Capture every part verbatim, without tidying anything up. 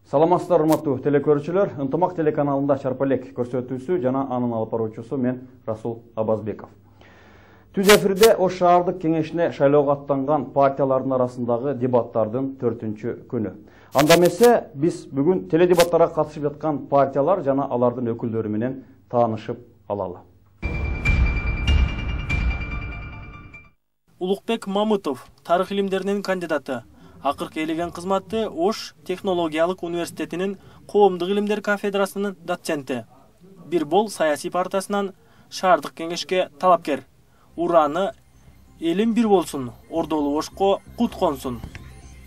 Саламатсыздар, урматтуу телекөрүүчүлөр. Ынтымак телеканалында Чарпалек көрсөтүүсү жана анын алып баруучусу мен Расул Абазбеков. Түз эфирде Ош шаардык кеңешине шайлоого аттанган партиялардын арасындагы дебаттардын төртүнчү күнү. Анда эмесе биз бүгүн теледебаттарга катышып жаткан партиялар жана алардын өкүлдөрү менен таанышып алалы. Улукбек Мамытов, тарых илимдеринин кандидаты. Акыркы элеген кызматы Ош технологиялык университетинин коомдук илимдер кафедрасынын доценти. Бир бол саясий партиясынан шаардык кеңешке талапкер. Ураны элим бир болсун, Ордолу Ошко кут консун.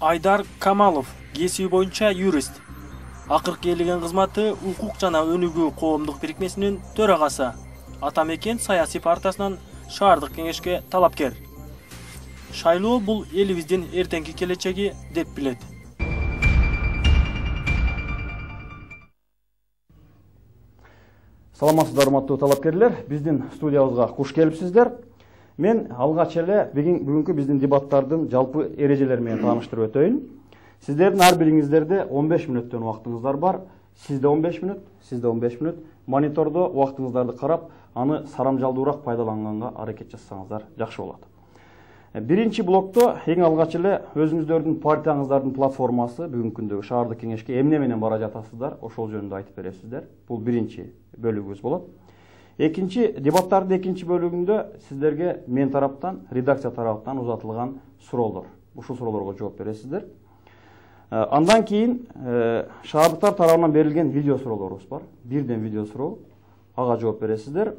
Айдар Камалов, кесиби боюнча юрист. Акыркы элеген кызматы укук жана өнүгүү коомдук бирикмесинин төрагасы. Атамекен саясий партиясынан шаардык кеңешке талапкер. Шайлоо бул элибиздин эртеңки келечеги деп билет. Саламатсыздар, урматтуу талапкерлер, биздин студиябызга куш келипсиздер. Мен алгач эле бүгүнкү биздин дебаттардын жалпы эрежелери менен тааныштырып өтөйүн. Сиздердин ар бириңиздерде он беш мүнөттөн убактыңыздар бар. Сизде он беш мүнөт, сизде он беш мүнөт. Монитордо убактыңыздарды карап, аны сарамжалдуураак пайдаланганга аракет жасасаңыздар жакшы болот. Биринчи блокто эң алгач эле өзүңүздөрдүн партияңыздардын платформасы бүгүнкү күндөгү шаардык кеңешке эмне менен бара жатасыздар, ошол жөнүндө айтып бересиздер. Бул биринчи бөлүгүбүз болот. Экинчи дебаттардын экинчи бөлүгүндө сиздерге мен тараптан, редакция тараптан узатылган суроолор. Ушул суроолорго жооп бересиздер. Андан кийин шаардыктар тарабынан берилген видео суроолорубуз бар. Бирден видео суроо, ага жооп бересиздер.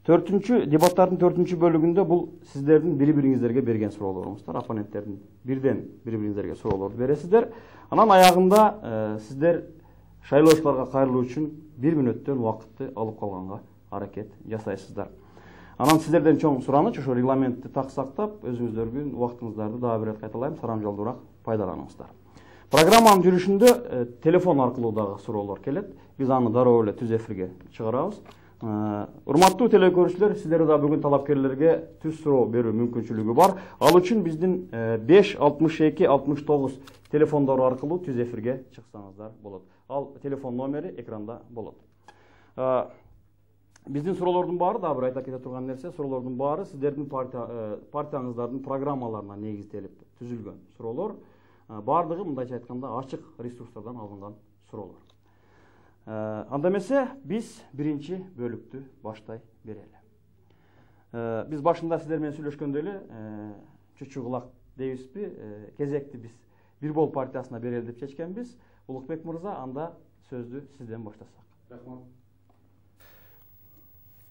Төртүнчү дебаттардын төртүнчү бөлүгүндө бул сиздердин бири-бириңиздерге берген суроолоруңуздар, оппоненттердин бирден бири-бириңиздерге суроолорду бересиздер. Анан аягында сиздер шайлоочуларга кайрылуу үчүн бир мүнөттөн убакытты алып калганга аракет жасайсыздар. Анан сиздерден чоң сураныч ошо регламентти так сактап, өзүңүздөргө убактыңыздарды дагы бир кайталайм, сарамжалдуураак пайдаланыңыздар. Программанын жүрүшүндө телефон аркылуу дагы суроолор келет. Биз аны дароо эле түз эфирге чыгарабыз. Урматтуу телекөрүүчүлөр, сиздер да бүгүн талапкерлерге түз суроо берүү мүмкүнчүлүгү бар. Ал үчүн биздин беш алтымыш эки алтымыш тогуз телефондору аркылуу түз эфирге чыксаңыздар болот. Ал телефон номери экранда болот. Биздин суроолордун баары, дагы бир айта кете турган нерсе, суроолордун баары сиздердин партияңыздардын программаларына негизделип түзүлгөн суроолор. Бардыгы мындайча айтканда ачык ресурстардан алынган суроолор. Анда эмесе биз биринчи бөлүктү баштай берели. Биз башында сиздер менен сүйлөшкөндө эле чүчү кулак дейбизби, кезекти биз бир бол партиясына берели деп чечкенбиз. Улукбек мырза, анда сөздү сизден баштасак. Рахмат.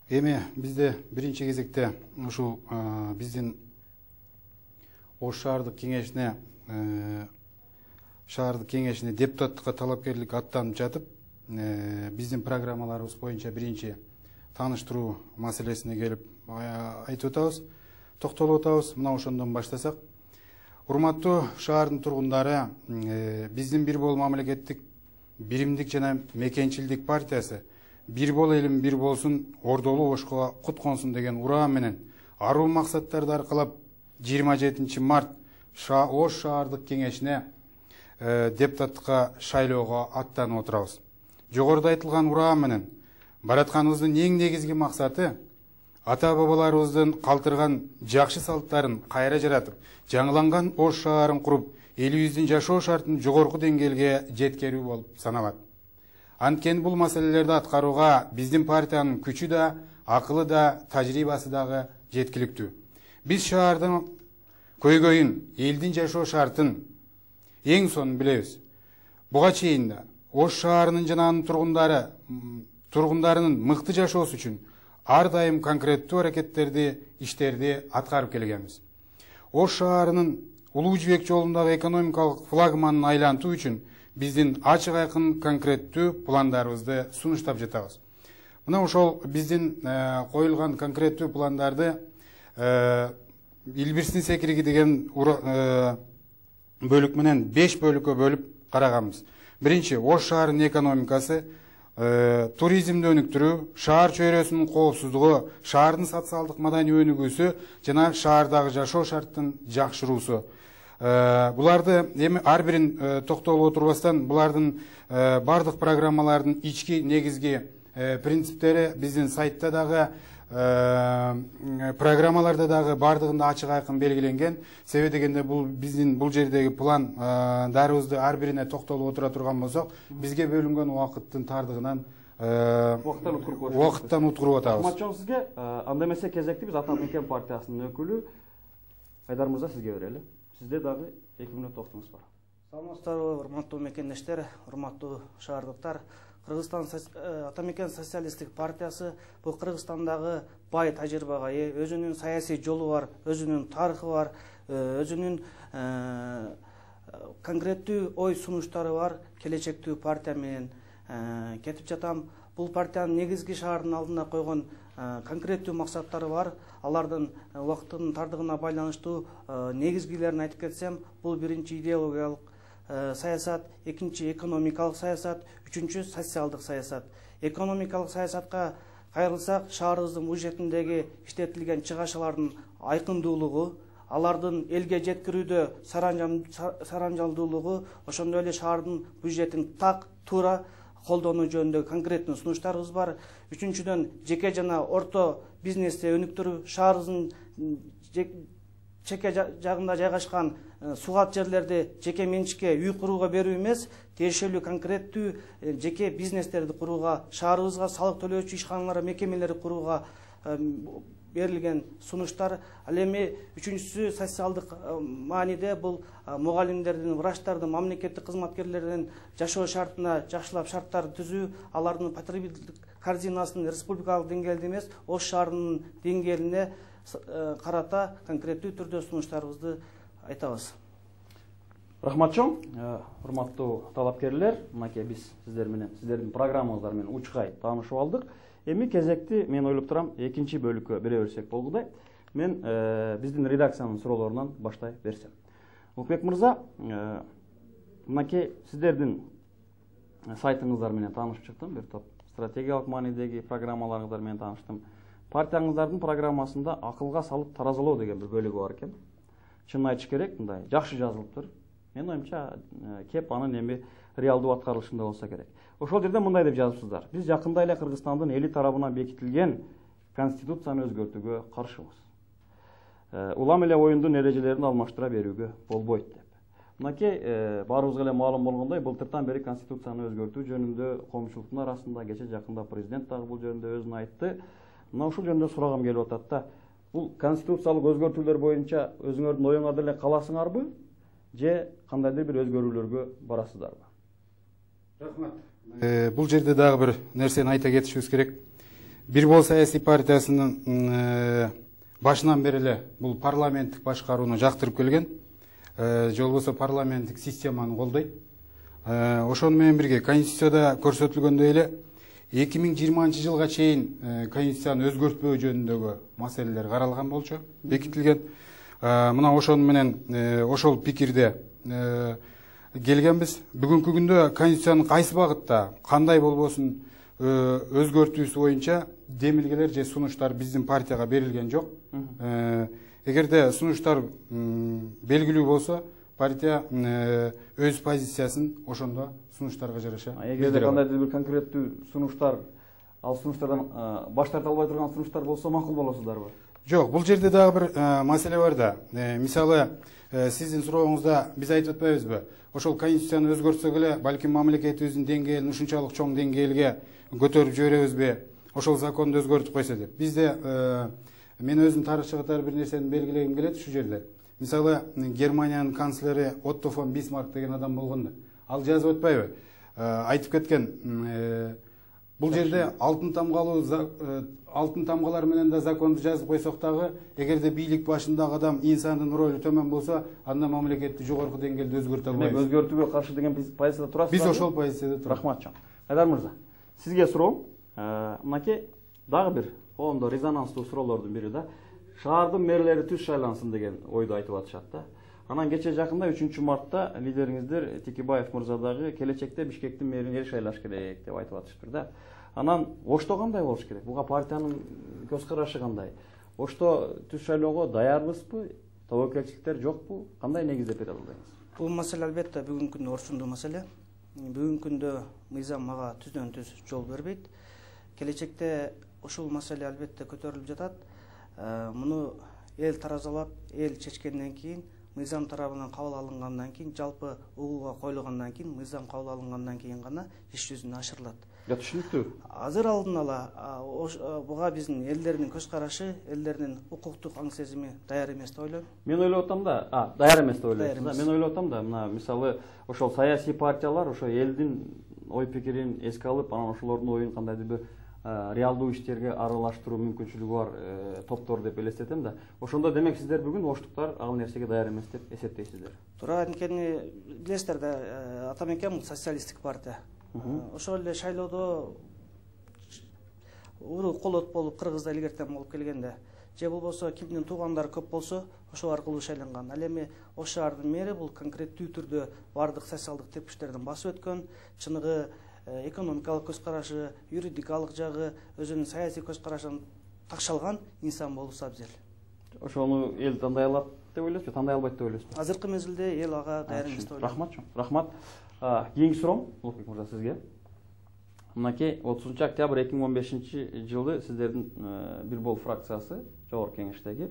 Эми бизде биринчи кезекте ушул биздин Ош шаардык кеңешине шаардык кеңешине депутаттыкка талапкерлик аттанып жатып, биздин программаларыбыз боюнча биринчи тааныштыруу маселесине келип айтып атабыз, токтолуп атабыз. Мына ошондон баштасак. Урматтуу шаардын тургундары, биздин бир бол мамлекеттик биримдик жана мекенчилдик партиясы бир бол элим бир болсун, Ордолу Ошко кут консун деген ураан менен аруу максаттарды аркалап жыйырма жетинчи март Ош шаардык кеңешине депутаттыкка шайлоого аттанып отурабыз. Жогоруда айтылган ураан менен баратканыбыздын эң негизги максаты ата бабаларыбыздын калтырган жакшы салттарын кайра жаратып, жаңыланган Ош шаарын куруп, элибиздин жашоо шартын жогорку деңгээлге жеткирүү болуп саналат. Анткени бул маселелерди аткарууга биздин партиянын күчү да, акылы да, тажрыйбасы дагы жеткиликтүү. Биз шаардын көйгөйүн, элдин жашоо шартын эң сонун билебиз. Буга чейин да Ош шаарынын жана анын тургундары тургундарынын мыкты жашоосу үчүн ар дайым конкреттүү аракеттерди, иштерди аткарып келгенбиз. Ош шаарынын улуу жибек жолундагы экономикалык флагманын айлантуу үчүн биздин ачык айкын конкреттүү пландарыбызды сунуштап жатабыз. Мына ошол биздин коюлган конкреттүү пландарды Илбирстин секириги деген бөлүк менен беш бөлүккө бөлүп караганбыз. Биринчи, Ош шаарынын экономикасы, туризмди өнүктүрүү, шаар чөйрөсүнүн коопсуздугу, шаардын социалдык маданий өнүгүүсү жана шаардагы жашоо шарттын жакшыруусу. буларды эми ар бирин токтолуп отурбастан булардын бардык программалардын ички негизги принциптери биздин сайтта дагы программаларда дагы бардыгында ачык айкын белгиленген. Себеби дегенде бул биздин бул жердеги план дарыбызды ар бирине токтолуп отура турган болсок, бизге бөлүнгөн убакыттын тардыгынан убакыттан уткуруп атабыз. Рахмат сизге. Анда эмесе кезекти биз Атамекен партиясынын өкүлү Айдар мырза сизге берели. Сизде дагы эки мүнөт токтогуңуз бар. Саламатсыздарбы, урматтуу мекендештер, урматтуу шаардыктар. Кыргызстан Атамекен социалисттик партиясы бул Кыргызстандагы бай тажрыйбага ээ, өзүнүн саясий жолу бар, өзүнүн тарыхы бар, өзүнүн конкреттүү ой сунуштары бар, келечектүү партия менен кетип жатам. Бул партиянын негизги шаардын алдына койгон конкреттүү максаттары бар. Алардын убакыттын тардыгына байланыштуу негизгилерин айтып кетсем, бул биринчи идеологиялык саясат, экинчи экономикалык саясат, үчүнчү социалдык саясат. Экономикалык саясатка кайрылсак, шаарыбыздын бюджетиндеги иштетилген чыгашалардын айкындуулугу, алардын элге жеткирүүдө саранжалдуулугу, ошондой эле шаардын бюджетин так туура колдонуу жөнүндө конкреттүү сунуштарыбыз бар. Үчүнчүдөн, жеке жана орто бизнести өнүктүрүү, шаарыбыздын чеке жагында жайгашкан сугат жерлерди жеке менчикке үй курууга берүү эмес, тиешелүү конкреттүү жеке бизнестерди курууга, шаарыбызга салык төлөөчү ишканалар, мекемелерди курууга берилген сунуштар. Ал эми үчүнчүсү социалдык мааниде бул мугалимдердин, врачтардын, мамлекеттик кызматкерлердин жашоо шартына жакшылап шарттар түзүү, алардын потребителдик корзинасын республикалык деңгээлде эмес, Ош шаарынын деңгээлине карата конкреттүү түрдө сунуштарыбызды айтабыз. Рахмат чоң, урматтуу талапкерлер, мынакей биз сиздер менен, сиздердин программаңыздар менен учкай таанышып алдык. Эми кезекти мен ойлоп турам экинчи бөлүккө бере берсек болгудай. Мен биздин редакциянын суроолорунан баштай берсем. Улукбек мырза, мынакей сиздердин сайтыңыздар менен таанышып чыктым, бир топ стратегиялык маанидеги программаларыңыздар менен тааныштым. Партияңыздардын программасында акылга салып таразалоо деген бир бөлүгү бар экен. Чынын айтыш керек, мындай жакшы жазылыптыр. Менин оюмча кеп анын эми реалдуу аткарылышында болсо керек. Ошол жерде мындай деп жазыпсыздар: биз жакында эле Кыргызстандын эли тарабынан бекитилген конституцияны өзгөртүүгө каршыбыз. Улам эле оюндун эрежелерин алмаштыра берүүгө болбойт деп. Мынакей баарыбызга эле маалым болгондой, былтыртан бери конституцияны өзгөртүү жөнүндө коомчулуктун арасында, кече жакында президент дагы бул жөнүндө өзүн айтты. Мына ушул жөнүндө сурагым келип атат да. Бул конституциялык өзгөртүүлөр боюнча өзүңөрдүн оюңарда эле каласыңарбы, же кандайдыр бир өзгөрүүлөргө барасыздарбы? Рахмат. Бул жерде дагы бир нерсени айта кетишибиз керек. Бир бол саясий партиясынын башынан бери эле бул парламенттик башкарууну жактырып келген, же болбосо парламенттик системаны колдойт. Ошону менен бирге Конституцияда көрсөтүлгөндөй эле эки миң жыйырманчы жылга чейин Конституцияны өзгөртпөө жөнүндөгү маселелер каралган болчу, бекитилген. Мына ошону менен ошол пикирде келгенбиз. Бүгүнкү күндө Конституциянын кайсы багытта, кандай болбосун өзгөртүүсү боюнча демилгелер же сунуштар биздин партияга берилген жок. Эгерде сунуштар белгилүү болсо, партия өз позициясын ошондо сунуштарга жараша. Эгерде кандайдыр бир конкреттүү сунуштар, ал сунуштардан баш тарта албай турган сунуштар болсо макул болосуздарбы? Жок, бул жерде дагы бир маселе бар да. Мисалы, сиздин сурооңузда биз айтып атпайбызбы? Ошол Конституцияны өзгөртсөк эле, балким мамлекетибиздин деңгээлин ушунчалык чоң деңгээлге көтөрүп жиберебизби? Ошол законду өзгөртүп койсо деп. Бизде мен өзүм тарыхчы катары бир нерсени белгилегим келет ушул жерде. Мисалы, Германиянын канцлери Отто фон Бисмарк деген адам болгондо, ал жазып атпайбы? Айтып кеткен, бул жерде алтын тамгалуу алтын тамгалар менен да законду жазып койсок дагы, эгерде бийлик башындагы адам инсандын ролу төмөн болсо, анда мамлекетти жогорку деңгээлде өзгөртө албайбыз. Өзгөртүүгө каршы деген позицияда турасызбы? Биз ошол позицияда турабыз. Рахмат чоң. Айдар мырза, сизге суроом. Мынакей дагы бир коомдо резонанстуу суроолордун бири да. Шаардын мэрлери түз шайлансын деген ойду айтып атышат да. Анан кече жакында үчүнчү мартта лидериңиздер Текебаев мырза дагы келечекте Бишкектин мэрин эл шайлаш керек деп айтып атышыптыр да. Анан Ошто кандай болуш керек? Буга партиянын көз карашы кандай? Ошто түз шайлоого даярбызбы тобокелчиликтер жокпу? Кандай негизде бере албайсыз? Бул маселе албетте бүгүнкү күндө орчундуу маселе. Бүгүнкү күндө мыйзам мага түздөн түз жол бербейт. Келечекте ушул маселе албетте көтөрүлүп жатат. Муну эл таразалап, эл чечкенден кийин, мыйзам тарабынан кабыл алынгандан кийин, жалпы угууга коюлгандан кийин, мыйзам кабыл алынгандан кийин гана иш жүзүнө ашырылат. Я түшүнүктүү. Азыр алдын ала буга биздин элдердин көз карашы, элдердин укуктук аң сезими даяр эмес деп ойлойм. Мен ойлоп атам да, а, даяр эмес деп ойлойсуз. Мен ойлоп атам да, мына мисалы ошол саясий партиялар ошо элдин ой пикирин эске алып, анан ошолордун оюн кандайдыр бир реалдуу иштерге аралаштыруу мүмкүнчүлүгү бар топтор деп элестетем да. Ошондо демек сиздер бүгүн оштуктар ал нерсеге даяр эмес деп эсептейсиздер. Туура, анткени билесиздер да, атамекен бул социалисттик партия. Ошол эле шайлоодо уруу колот болуп кыргызда илгертен болуп келгенде, же болбосо кимдин туугандары көп болсо, ошол аркылуу шайланган. Ал эми ош шаардын мэри бул конкреттүү түрдө бардык социалдык тепкичтерден басып өткөн, чыныгы экономикалык көз карашы, юридикалык жагы, өзүнүн саясий көз карашын такшалган инсан болуусу абзел. Ошону эл тандай алат деп ойлойсузбу, тандай албайт деп ойлойсузбу? Азыркы мезгилде эл ага даяр эмес деп ойлойм. Рахмат чоң. Рахмат. Кийинки суроом, Улукбек мырза, сизге. Мынакей отузунчу октябрь эки миң он бешинчи жылы сиздердин бир бол фракциясы жогорку кеңештеги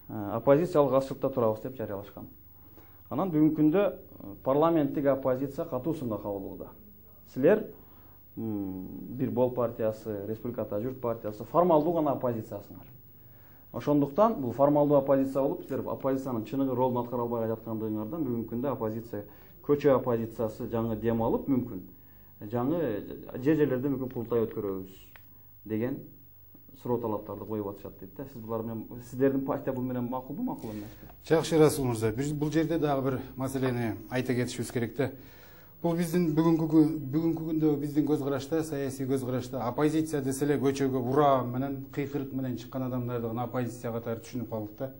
оппозициялык азчылыкта турабыз деп жарыялашкан. Анан бүгүнкү күндө парламенттик оппозиция катуу сынга кабылууда. Силер бир бол партиясы, Республиката журт партиясы формалдуу гана оппозициясыңар. Ошондуктан бул формалдуу оппозиция болуп, силер оппозициянын чыныгы ролун аткара албай жаткандыгыңардан бүгүнкү күндө оппозиция, көчө оппозициясы жаңы дем алып, мүмкүн жаңы же жерлерде мүмкүн курултай өткөрөбүз деген суроо талаптарды коюп атышат дейт да. Сиз булар менен, сиздердин партия бул менен макулбу, макул эмеспи? Жакшы, Расул мырза, бул жерде дагы бир маселени айта кетишибиз керек да. Бул биздин бүгүнкү бүгүнкү күндө биздин көз карашта, саясий көз карашта оппозиция десе эле көчөгө ура менен, кыйкырык менен чыккан адамдарды гана оппозиция катары түшүнүп калдык да.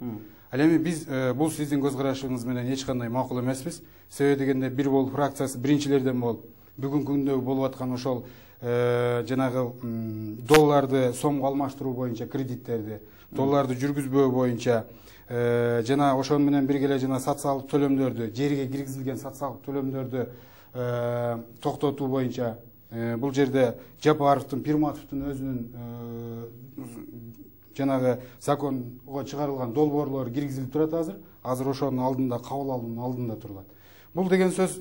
Ал эми биз бул сиздин көз карашыңыз менен эч кандай макул эмеспиз. Себеби дегенде бир бол фракциясы биринчилерден болуп, бүгүнкү күндө болуп аткан ошол жанагы долларды сомго алмаштыруу боюнча кредиттерди, долларды жүргүзбөө боюнча жана ошон менен бирге эле жана социалдык төлөмдөрдү, жерге киргизилген социалдык төлөмдөрдү токтотуу боюнча бул жерде Жапаровдун, Пирматовдун өзүнүн жанагы законго чыгарылган долбоорлору киргизилип турат азыр. Азыр ошонун алдында, кабыл алуунун алдында турулат. Бул деген сөз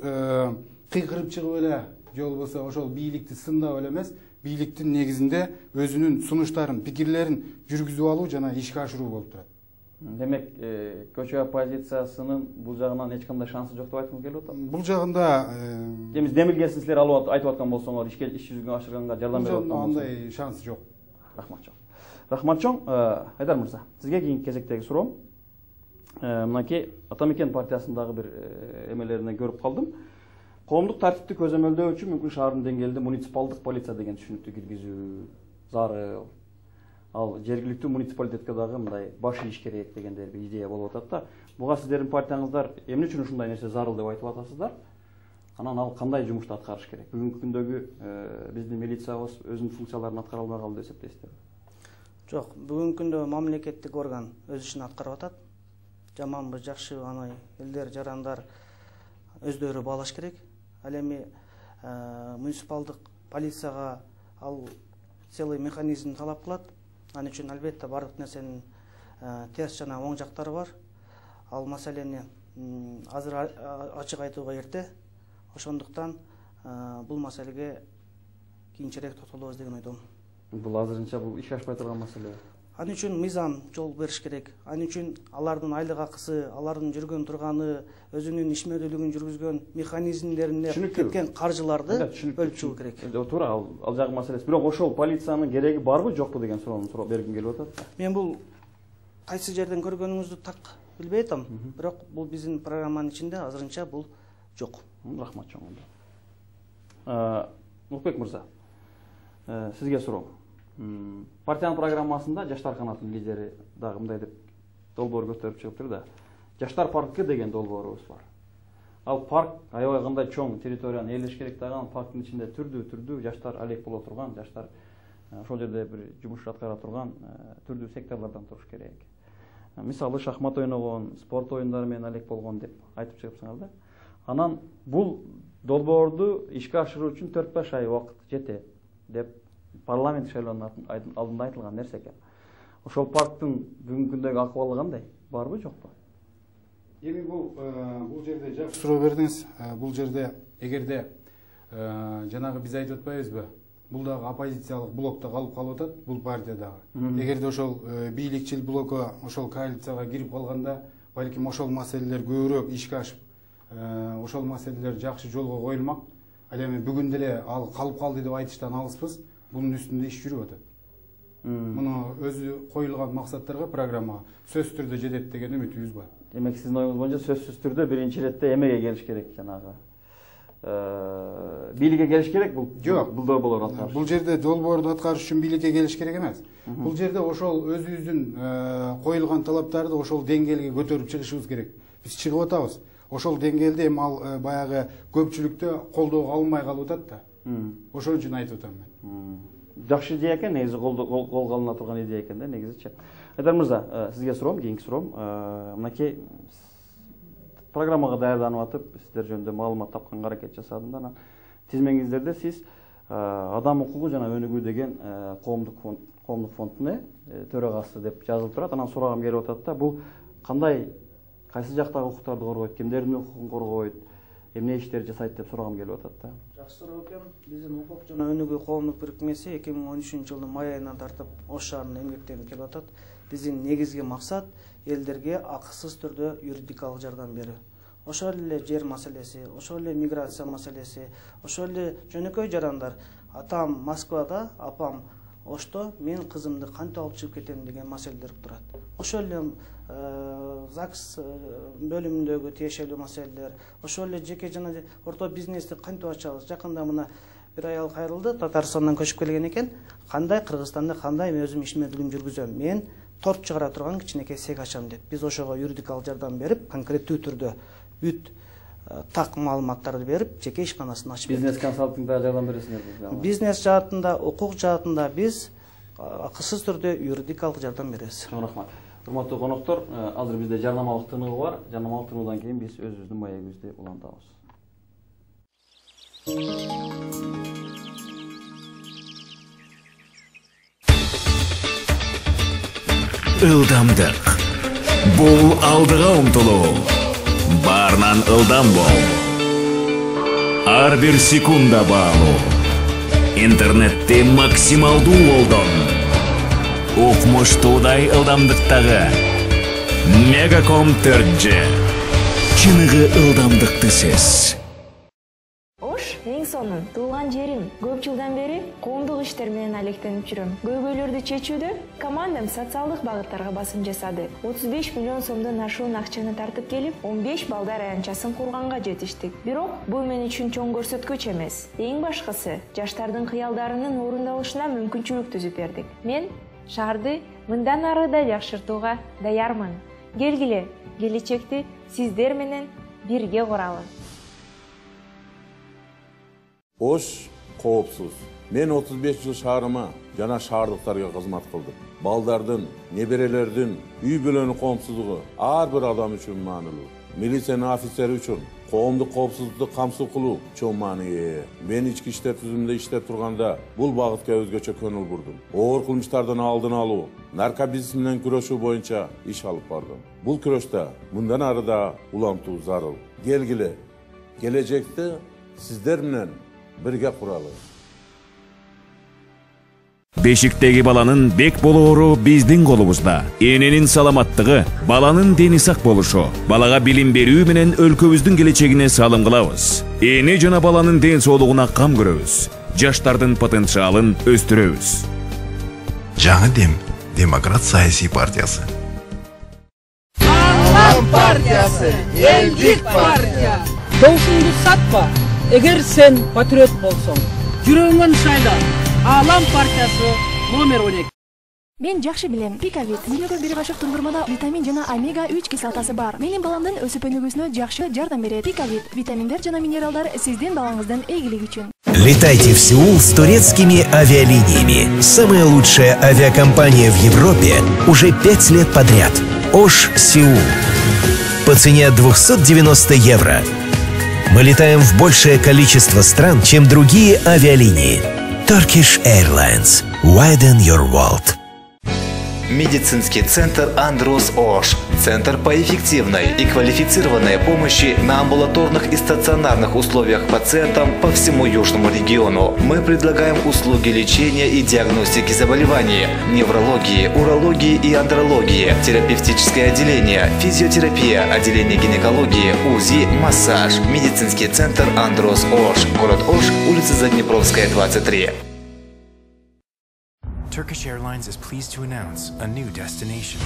кыйкырып чыгып эле, же болбосо ошол бийликти сындап эле эмес, бийликтин негизинде өзүнүн сунуштарын, пикирлерин жүргүзүп алуу жана ишке ашыруу болуп турат. Демек, көчө оппозициясынын бул жагынан эч кандай шансы жок деп айткым келип атат. Бул жагында Демис демилгесин силер алып айтып аткан болсоңор, ишке иш жүзүгө ашырганга жардам берип аткан болсоңор. Андай шанс жок. Рахмат чоң. Рахмат чоң. Айдар мырза, сизге кийинки кезектеги суроом. Мынакей Атамекен партиясындагы бир эмелеринен көрүп калдым. Коомдук тартипти көзөмөлдөө үчүн мүмкүн шаардын деңгээлинде муниципалдык полиция деген түшүнүктү киргизүү зарыл. Ал жергиликтүү муниципалитетке дагы мындай баш ийиш керек дегендей бир идея болуп атат да. Буга сиздердин партияңыздар эмне үчүн ушундай нерсе зарыл деп айтып атасыздар? Анан ал кандай жумушту аткарыш керек? Бүгүнкү күндөгү биздин милициябыз өзүнүн функцияларын аткара албай калды деп эсептейсиздерби? Жок, бүгүнкү күндө мамлекеттик орган өз ишин аткарып атат. Жаманбы, жакшыбы, аны элдер, жарандар өздөрү баалаш керек. Ал эми муниципалдык полицияга ал целый механизм талап кылат. Ал үчүн албетте бардык нерсенин терс жана оң жактары бар. Ал маселени азыр ачык айтууга эрте. Ошондуктан бул маселеге кийинчерээк токтолобуз деген ойдомун. Бул азырынча бул ишке ашпай турган маселе. Ал үчүн мыйзам жол бериш керек. Ал үчүн алардын айлык акысы, алардын жүргөн турганы, өзүнүн ишмердүүлүгүн жүргүзгөн механизмдерине кеткен каржыларды бөлүп чыгуу керек. Туура, ал жагы маселеси. Бирок ошол полициянын кереги барбы, жокпу деген суроону суроо бергим келип атат. Мен бул кайсы жерден көргөнүңүздү так билбей атам. Бирок бул биздин программанын ичинде азырынча бул жок. Рахмат чоң. Улукбек мырза, сизге суроо. Партиянын программасында жаштар канатынын лидери дагы мындай деп долбоор көтөрүп чыгыптыр да. Жаштар паркы деген долбоорубуз бар. Ал парк аябай кандай чоң территорияны ээлеш керек дагы, парктын ичинде түрдүү-түрдүү жаштар алек боло турган, жаштар ошол жерде бир жумуш аткара турган түрдүү секторлордон туруш керек. мисалы шахмат ойногон, спорт оюндары менен алек болгон деп айтып чыгыпсыңар да. Анан бул долбоорду ишке ашыруу үчүн төрт беш ай убакыт жетет деп парламент шайлоонун алдында айтылган нерсе экен. Ошол парктын бүгүнкү күндөгү акыбалы кандай? Барбы, жокпу? Эми бул бул жерде жакшы суроо бердиңиз. Бул жерде эгерде жанагы биз айтып атпайбызбы? Бул дагы оппозициялык блокто калып калып атат, бул партия дагы. Эгерде ошол бийликчил блоку ошол коалицияга кирип калганда, балким ошол маселелер көбүрөөк ишке ашып, ошол маселелер жакшы жолго коюлмак. Ал эми бүгүн деле ал калып калды деп айтыштан алыспыз. Бунун үстүндө иш жүрүп атат. Муну өзү коюлган максаттарга, программага сөзсүз түрдө жетет деген үмүтүбүз бар. Демек, сиздин оюңуз боюнча сөзсүз түрдө биринчи иретте эмеге келиш керек, жанагы бийликке келиш керек. Бул жок, бул долбоорду аткарыш. Бул жерде долбоорду аткарыш үчүн бийликке келиш керек эмес. Бул жерде ошол өзүбүздүн коюлган талаптарды ошол деңгээлге көтөрүп чыгышыбыз керек. Биз чыгып атабыз. Ошол деңгээлде эми ал баягы көпчүлүктө колдоого алынмай калып атат да. Ошон үчүн айтып атам мен. Жакшы идея экен, негизи колго алына турган идея экен да, негизичи. Айдар мырза, сизге суроом, кийинки суроом. Мынакей программага даярданып атып, сиздер жөнүндө маалымат тапканга аракет жасадым да. Анан тизмеңиздерде сиз Адам укугу жана өнүгүү деген коомдук фонд, коомдук фонддун төрагасы деп жазылып турат. Анан сурагым келип атат да, бул кандай, кайсы жактагы укуктарды коргойт, кимдердин укугун коргойт, эмне иштер жасайт деп сурагым келип атат да. Жакшы суроо экен. Биздин укук жана өнүгүү коомдук бирикмеси эки миң он үчүнчү жылдын май айынан тартып Ош шаарында эмгектенип келип атат. Биздин негизги максат элдерге акысыз түрдө юридикалык жардам берүү. Ошол эле жер маселеси, ошол эле миграция маселеси, ошол эле жөнөкөй жарандар. Атам Москвада, апам Ошто, мен кызымды кантип алып чыгып кетем деген маселелер турат. Ошол эле ЗАГС бөлүмүндөгү тиешелүү маселелер, ошол эле жеке жана орто бизнести кантип ачабыз. Жакында мына бир аял кайрылды, Татарстандан көчүп келген экен. Кандай Кыргызстанда кандай мен өзүм ишмердигим жүргүзөм? Мен торт чыгара турган кичинекей цех ачам деп. Биз ошого юридикалык жардам берип, конкреттүү түрдө бүт так маалыматтарды берип, жеке ишканасын ачып бердик. Бизнес консалтингде жардам бересиңерби? Бизнес жаатында, укук жаатында биз акысыз түрдө юридикалык жардам беребиз. Чоң рахмат. Урматтуу коноктор, азыр бизде жарнамалык тыныгы бар. Жарнамалык тынуудан кийин биз өзүбүздүн маегибизди улантабыз. Ылдамдык. Бул алдыга умтулуу. Баарынан ылдам бол. Ар бир секунда баалуу. Интернетти максималдуу колдон. Укмуштуудай ылдамдыктагы Мегаком төрт жи. Чыныгы ылдамдыкты сез. Ош эң сонун туулган жерим. Көп жылдан бери коомдук иштер менен алектенип жүрөм. Көйгөйлөрдү чечүүдө командам социалдык багыттарга басым жасады. отуз беш миллион сомдон ашуун акчаны тартып келип, он беш балдар аянтчасын курганга жетиштик. Бирок бул мен үчүн чоң көрсөткүч эмес. Эң башкысы, жаштардын кыялдарынын орундалышына мүмкүнчүлүк түзүп бердик. Мен шаарды мындан ары да жакшыртууга даярмын. Келгиле, келечекти сиздер менен бирге куралы. Ош коопсуз. Мен отуз беш жыл шаарыма жана шаардыктарга кызмат кылдым. Балдардын, неберелердин үй бүлөнүн коопсуздугу ар бир адам үчүн маанилүү. Милициянын офицери үчүн коомдук коопсуздукту камсыз кылуу чоң мааниге ээ. Мен ички иштер түзүмүндө иштеп турганда бул багытка өзгөчө көңүл бурдум. Оор кылмыштардын алдын алуу, наркобизнес менен күрөшүү боюнча иш алып бардым. Бул күрөштө мындан ары да улантуу зарыл. Келгиле, келечекти сиздер менен бирге куралы. Бешиктеги баланын бек болоору биздин колубузда. Эненин саламаттыгы, баланын дени сак болушу, балага билим берүү менен өлкөбүздүн келечегине салым кылабыз. Эне жана баланын ден соолугуна кам көрөбүз. Жаштардын потенциалын өстүрөбүз. Жаңы дем, Демократ саясий партиясы. Алам партиясы, элдик партия. Доушуңду сатпа, эгер сен патриот болсоң. Жүрөгүңөн шайла. Алам партиясы номер он эки. Мен жакшы билем, Пикавит. Күнүгө бир кашык тундурмада витамин жана омега үч кислотасы бар. Менин баламдын өсүп өнүгүүсүнө жакшы жардам берет. Пикавит. Витаминдер жана минералдар сиздин балаңыздын ийгилиги үчүн. Летайте в Сеул с турецкими авиалиниями. Самая лучшая авиакомпания в Европе уже пять лет подряд. Ош Сеул. По цене двести девяносто евро. Мы летаем в большее количество стран, чем другие авиалинии. Turkish Airlines. Widen your world. Медицинский центр Андрос Ош. Центр по эффективной и квалифицированной помощи на амбулаторных и стационарных условиях пациентам по всему Южному региону. Мы предлагаем услуги лечения и диагностики заболеваний, неврологии, урологии и андрологии, терапевтическое отделение, физиотерапия, отделение гинекологии, УЗИ, массаж. Медицинский центр Андрос Ош. Город Ош, улица Заднепровская, двадцать три. Turkish Airlines is pleased to announce a new destination,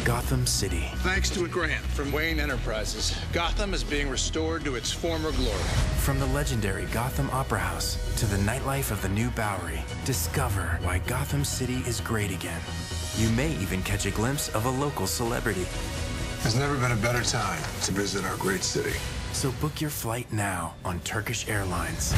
Gotham City. Thanks to a grant from Wayne Enterprises, Gotham is being restored to its former glory. From the legendary Gotham Opera House to the nightlife of the new Bowery, discover why Gotham City is great again. You may even catch a glimpse of a local celebrity. There's never been a better time to visit our great city. So book your flight now on Turkish Airlines.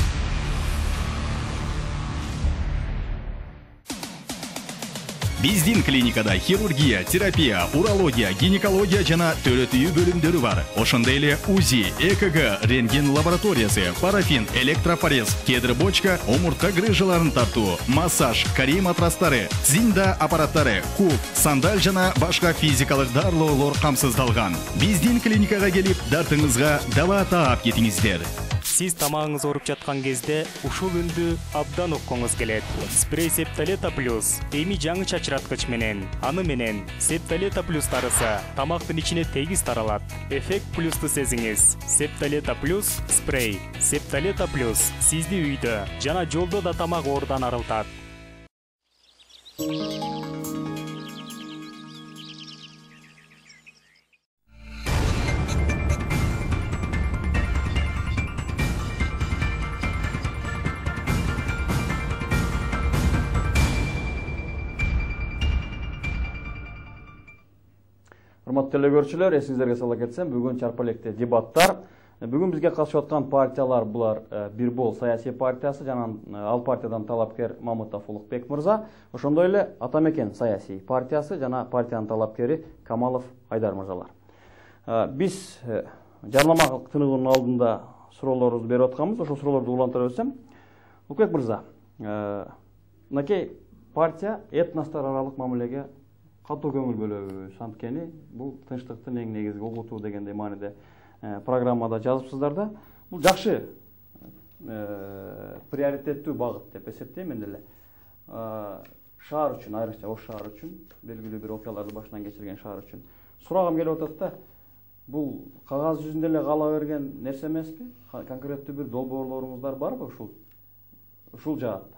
Биздин клиникада хирургия, терапия, урология, гинекология жана төрөтүү бөлүмдөрү бар. Ошондой эле УЗИ, ЭКГ, рентген лабораториясы, парафин, электропорез, кедр бочка, омуртка грыжаларын тартуу, массаж, карий матрастары, зинда аппараттары, куб, сандаль жана башка физикалык дарылоолор камсыздалган. Биздин клиникага келип, дартыңызга дава таап кетиңиздер. Сиз тамагыңыз ооруп жаткан кезде ушул үндү абдан уккуңуз келет. Спрей Септолета Плюс эми жаңы чачыраткыч менен, аны менен Септолета Плюс тарыса, тамактын ичине тегиз таралат. Эффект плюсту сезиңиз. Септолета Плюс спрей. Септолета Плюс сизди үйдө жана жолдо да тамак оорудан арылтат. Урматтуу телекөрүүчүлөр, эсиңиздерге сала кетсем, бүгүн чарпа электе дебаттар. Бүгүн бизге катышып аткан партиялар булар Бир бол саясий партиясы жана ал партиядан талапкер Мамытов Улукбек мырза, ошондой эле Атамекен саясий партиясы жана партиянын талапкери Камалов Айдар мырзалар. Биз жарнама тыныгынын алдында суроолорубузду берип атканбыз, ошол суроолорду улантыра берсем, Улукбек мырза, мынакей партия этностор аралык мамилеге катуу көңүл бөлөбүз, анткени бул тынчтыктын эң негизги угуту дегендей мааниде программада жазыпсыздар да. Бул жакшы приоритеттүү багыт деп эсептейм мен деле. Шаар үчүн, айрыкча Ош шаары үчүн, белгилүү бир окуяларды башынан кечирген шаар үчүн сурагым келип атат да, бул кагаз жүзүндө эле кала берген нерсе эмеспи? Конкреттүү бир долбоорлоруңуздар барбы ушул ушул жаатта?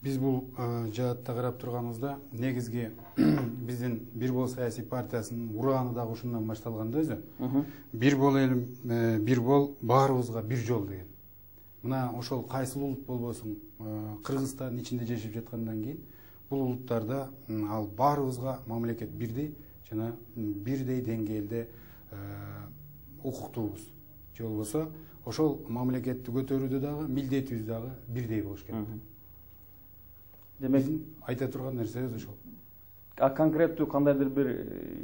Биз бул жаатта карап турганыбызда негизги биздин Бир бол саясий партиясынын урааны дагы ушундан башталган да өзү. Бир бол элим, бир бол баарыбызга бир жол деген. Мына ошол кайсыл улут болбосун, Кыргызстандын ичинде жашап жаткандан кийин бул улуттарда ал баарыбызга мамлекет бирдей жана бирдей деңгээлде укуктуубуз. Же болбосо ошол мамлекетти көтөрүүдө дагы милдетибиз дагы бирдей болуш керек. Демек, айта турган нерсе өзү ошол. А конкреттүү кандайдыр бир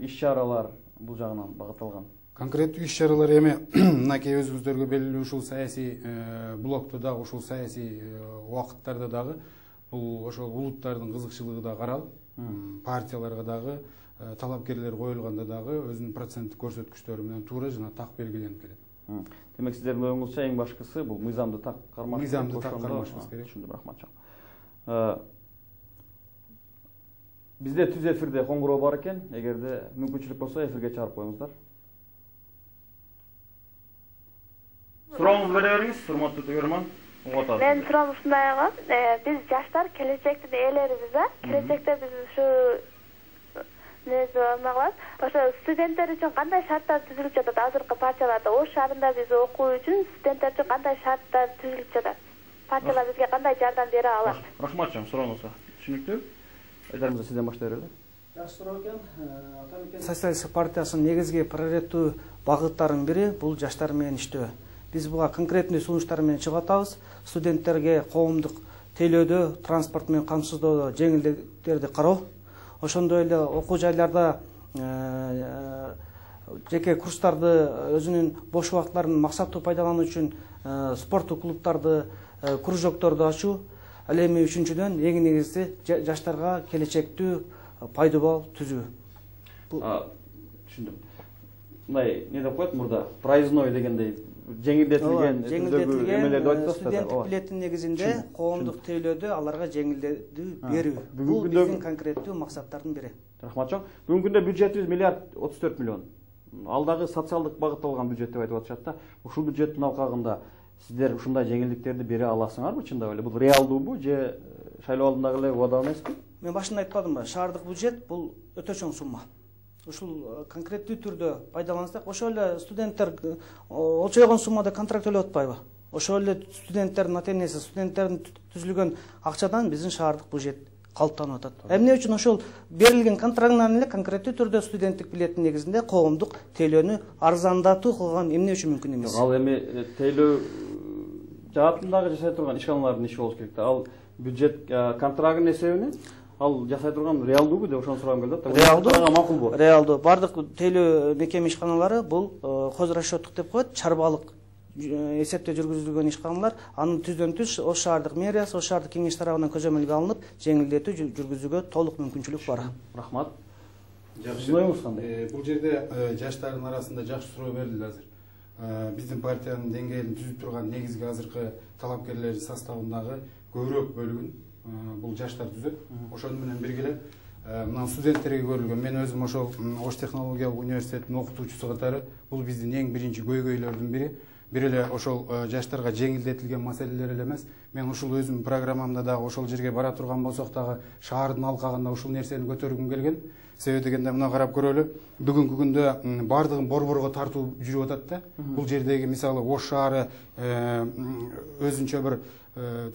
иш-чаралар бул жагынан багытталган? Конкреттүү иш-чаралар эми мынакей өзүбүздөргө белгилүү ушул саясий блокто дагы, ушул саясий убакыттарда дагы бул ошол улуттардын кызыкчылыгы да каралып, партияларга дагы талапкерлер коюлганда дагы өзүнүн проценттик көрсөткүчтөрү менен туура жана так белгиленип келет. Демек сиздердин оюңузча эң башкысы бул мыйзамды так кармаш. Мыйзамды так кармашыбыз керек. Түшүндүм, рахмат жок. Бизде түз эфирде коңгуроо бар экен, эгерде мүмкүнчүлүк болсо эфирге чыгарып коюңуздар. Сурооңузду бере бериңиз, урматтуу көрөрман. Мен суроом ушундай болгон, биз жаштар келечектин ээлерибиз да, келечекте биз ушу нерсе алмагабыз. Ошо студенттер үчүн кандай шарттар түзүлүп жатат азыркы партияларда? Ош шаарында биз окуу үчүн студенттер үчүн кандай шарттар түзүлүп жатат? Партиялар бизге кандай жардам бере алат? Рахмат жан, сурооңузга түшүнүктүү. Айдар мырза, сизден баштай берели. Жакшы суроо экен. Атамекен саясий партиясынын негизги приоритеттүү багыттарынын бири бул жаштар менен иштөө. Биз буга конкреттүү сунуштар менен чыгып атабыз. Студенттерге коомдук тейлөөдө, транспорт менен камсыздоодо жеңилдиктерди кароо, ошондой эле окуу жайларда жеке курстарды өзүнүн бош убакыттарын максаттуу пайдалануу үчүн спорттук клубдарды, кружокторду ачуу. Ал эми үчүнчүдөн эң негизгиси жаштарга келечектүү пайдубал түзүү. Түшүндүм. Мындай не деп коет мурда проездной дегендей жеңилдетилген жеңилдетилген студенттик билеттин негизинде коомдук тейлөөдө аларга жеңилдетүү берүү. Бул биздин конкреттүү максаттардын бири. Рахмат чоң. Бүгүнкү күндө бюджетибиз миллиард отуз төрт миллион. Алдагы социалдык багытталган бюджет деп айтып атышат да. Ушул бюджеттин алкагында сиздер ушундай жеңилдиктерди бере аласыңарбы чындап эле? Бул реалдуубу же шайлоо алдындагы эле убада эмеспи? Мен башында айтпадымбы, шаардык бюджет бул өтө чоң сумма. Ушул конкреттүү түрдө пайдалансак, ошол эле студенттер олчойгон суммада контракт төлөп атпайбы? Ошол эле студенттердин ата-энеси, студенттердин түзүлгөн акчадан биздин шаардык бюджет калыптанып атат. Эмне үчүн ошол берилген контрактынан эле конкреттүү түрдө студенттик билеттин негизинде коомдук тейлөөнү арзандатуу кылган эмне үчүн мүмкүн эмес? Ал эми тейлөө жаатындагы жашай турган ишканалардын иши болуш керек да. Ал бюджет контрагттын эсебинен ал жасай турган реалдуубу деп ошону сурагым келип атат. Реалдуу, макулбу? Реалдуу. Бардык тейлөө мекеме ишканалары бул хозрасчёттук деп коет, чарбалык эсепте жүргүзүлгөн ишканалар. Анын түздөн түз Ош шаардык мэриясы, Ош шаардык кеңеш тарабынан көзөмөлгө алынып, жеңилдетүү жүргүзүүгө толук мүмкүнчүлүк бар. Рахмат. Жакшы. Бул жерде жаштардын арасында жакшы суроо берилди азыр. Биздин партиянын деңгээлин түзүп турган негизги азыркы талапкерлердин составындагы көбүрөөк бөлүгүн бул жаштар түзөт. Ошону менен бирге эле мына студенттерге көрүлгөн. Мен өзүм ошол Ош технологиялык университетинин окутуучусу катары бул биздин эң биринчи көйгөйлөрдүн бири. Бир эле ошол жаштарга жеңилдетилген маселелер эле эмес. Мен ушул өзүм программамда дагы ошол жерге бара турган болсок дагы шаардын алкагында ушул нерсени көтөргүм келген. Себеби дегенде мына карап көрөлү. Бүгүнкү күндө бардыгын борборго тартуу жүрүп атат да. Бул жердеги мисалы Ош шаары өзүнчө бир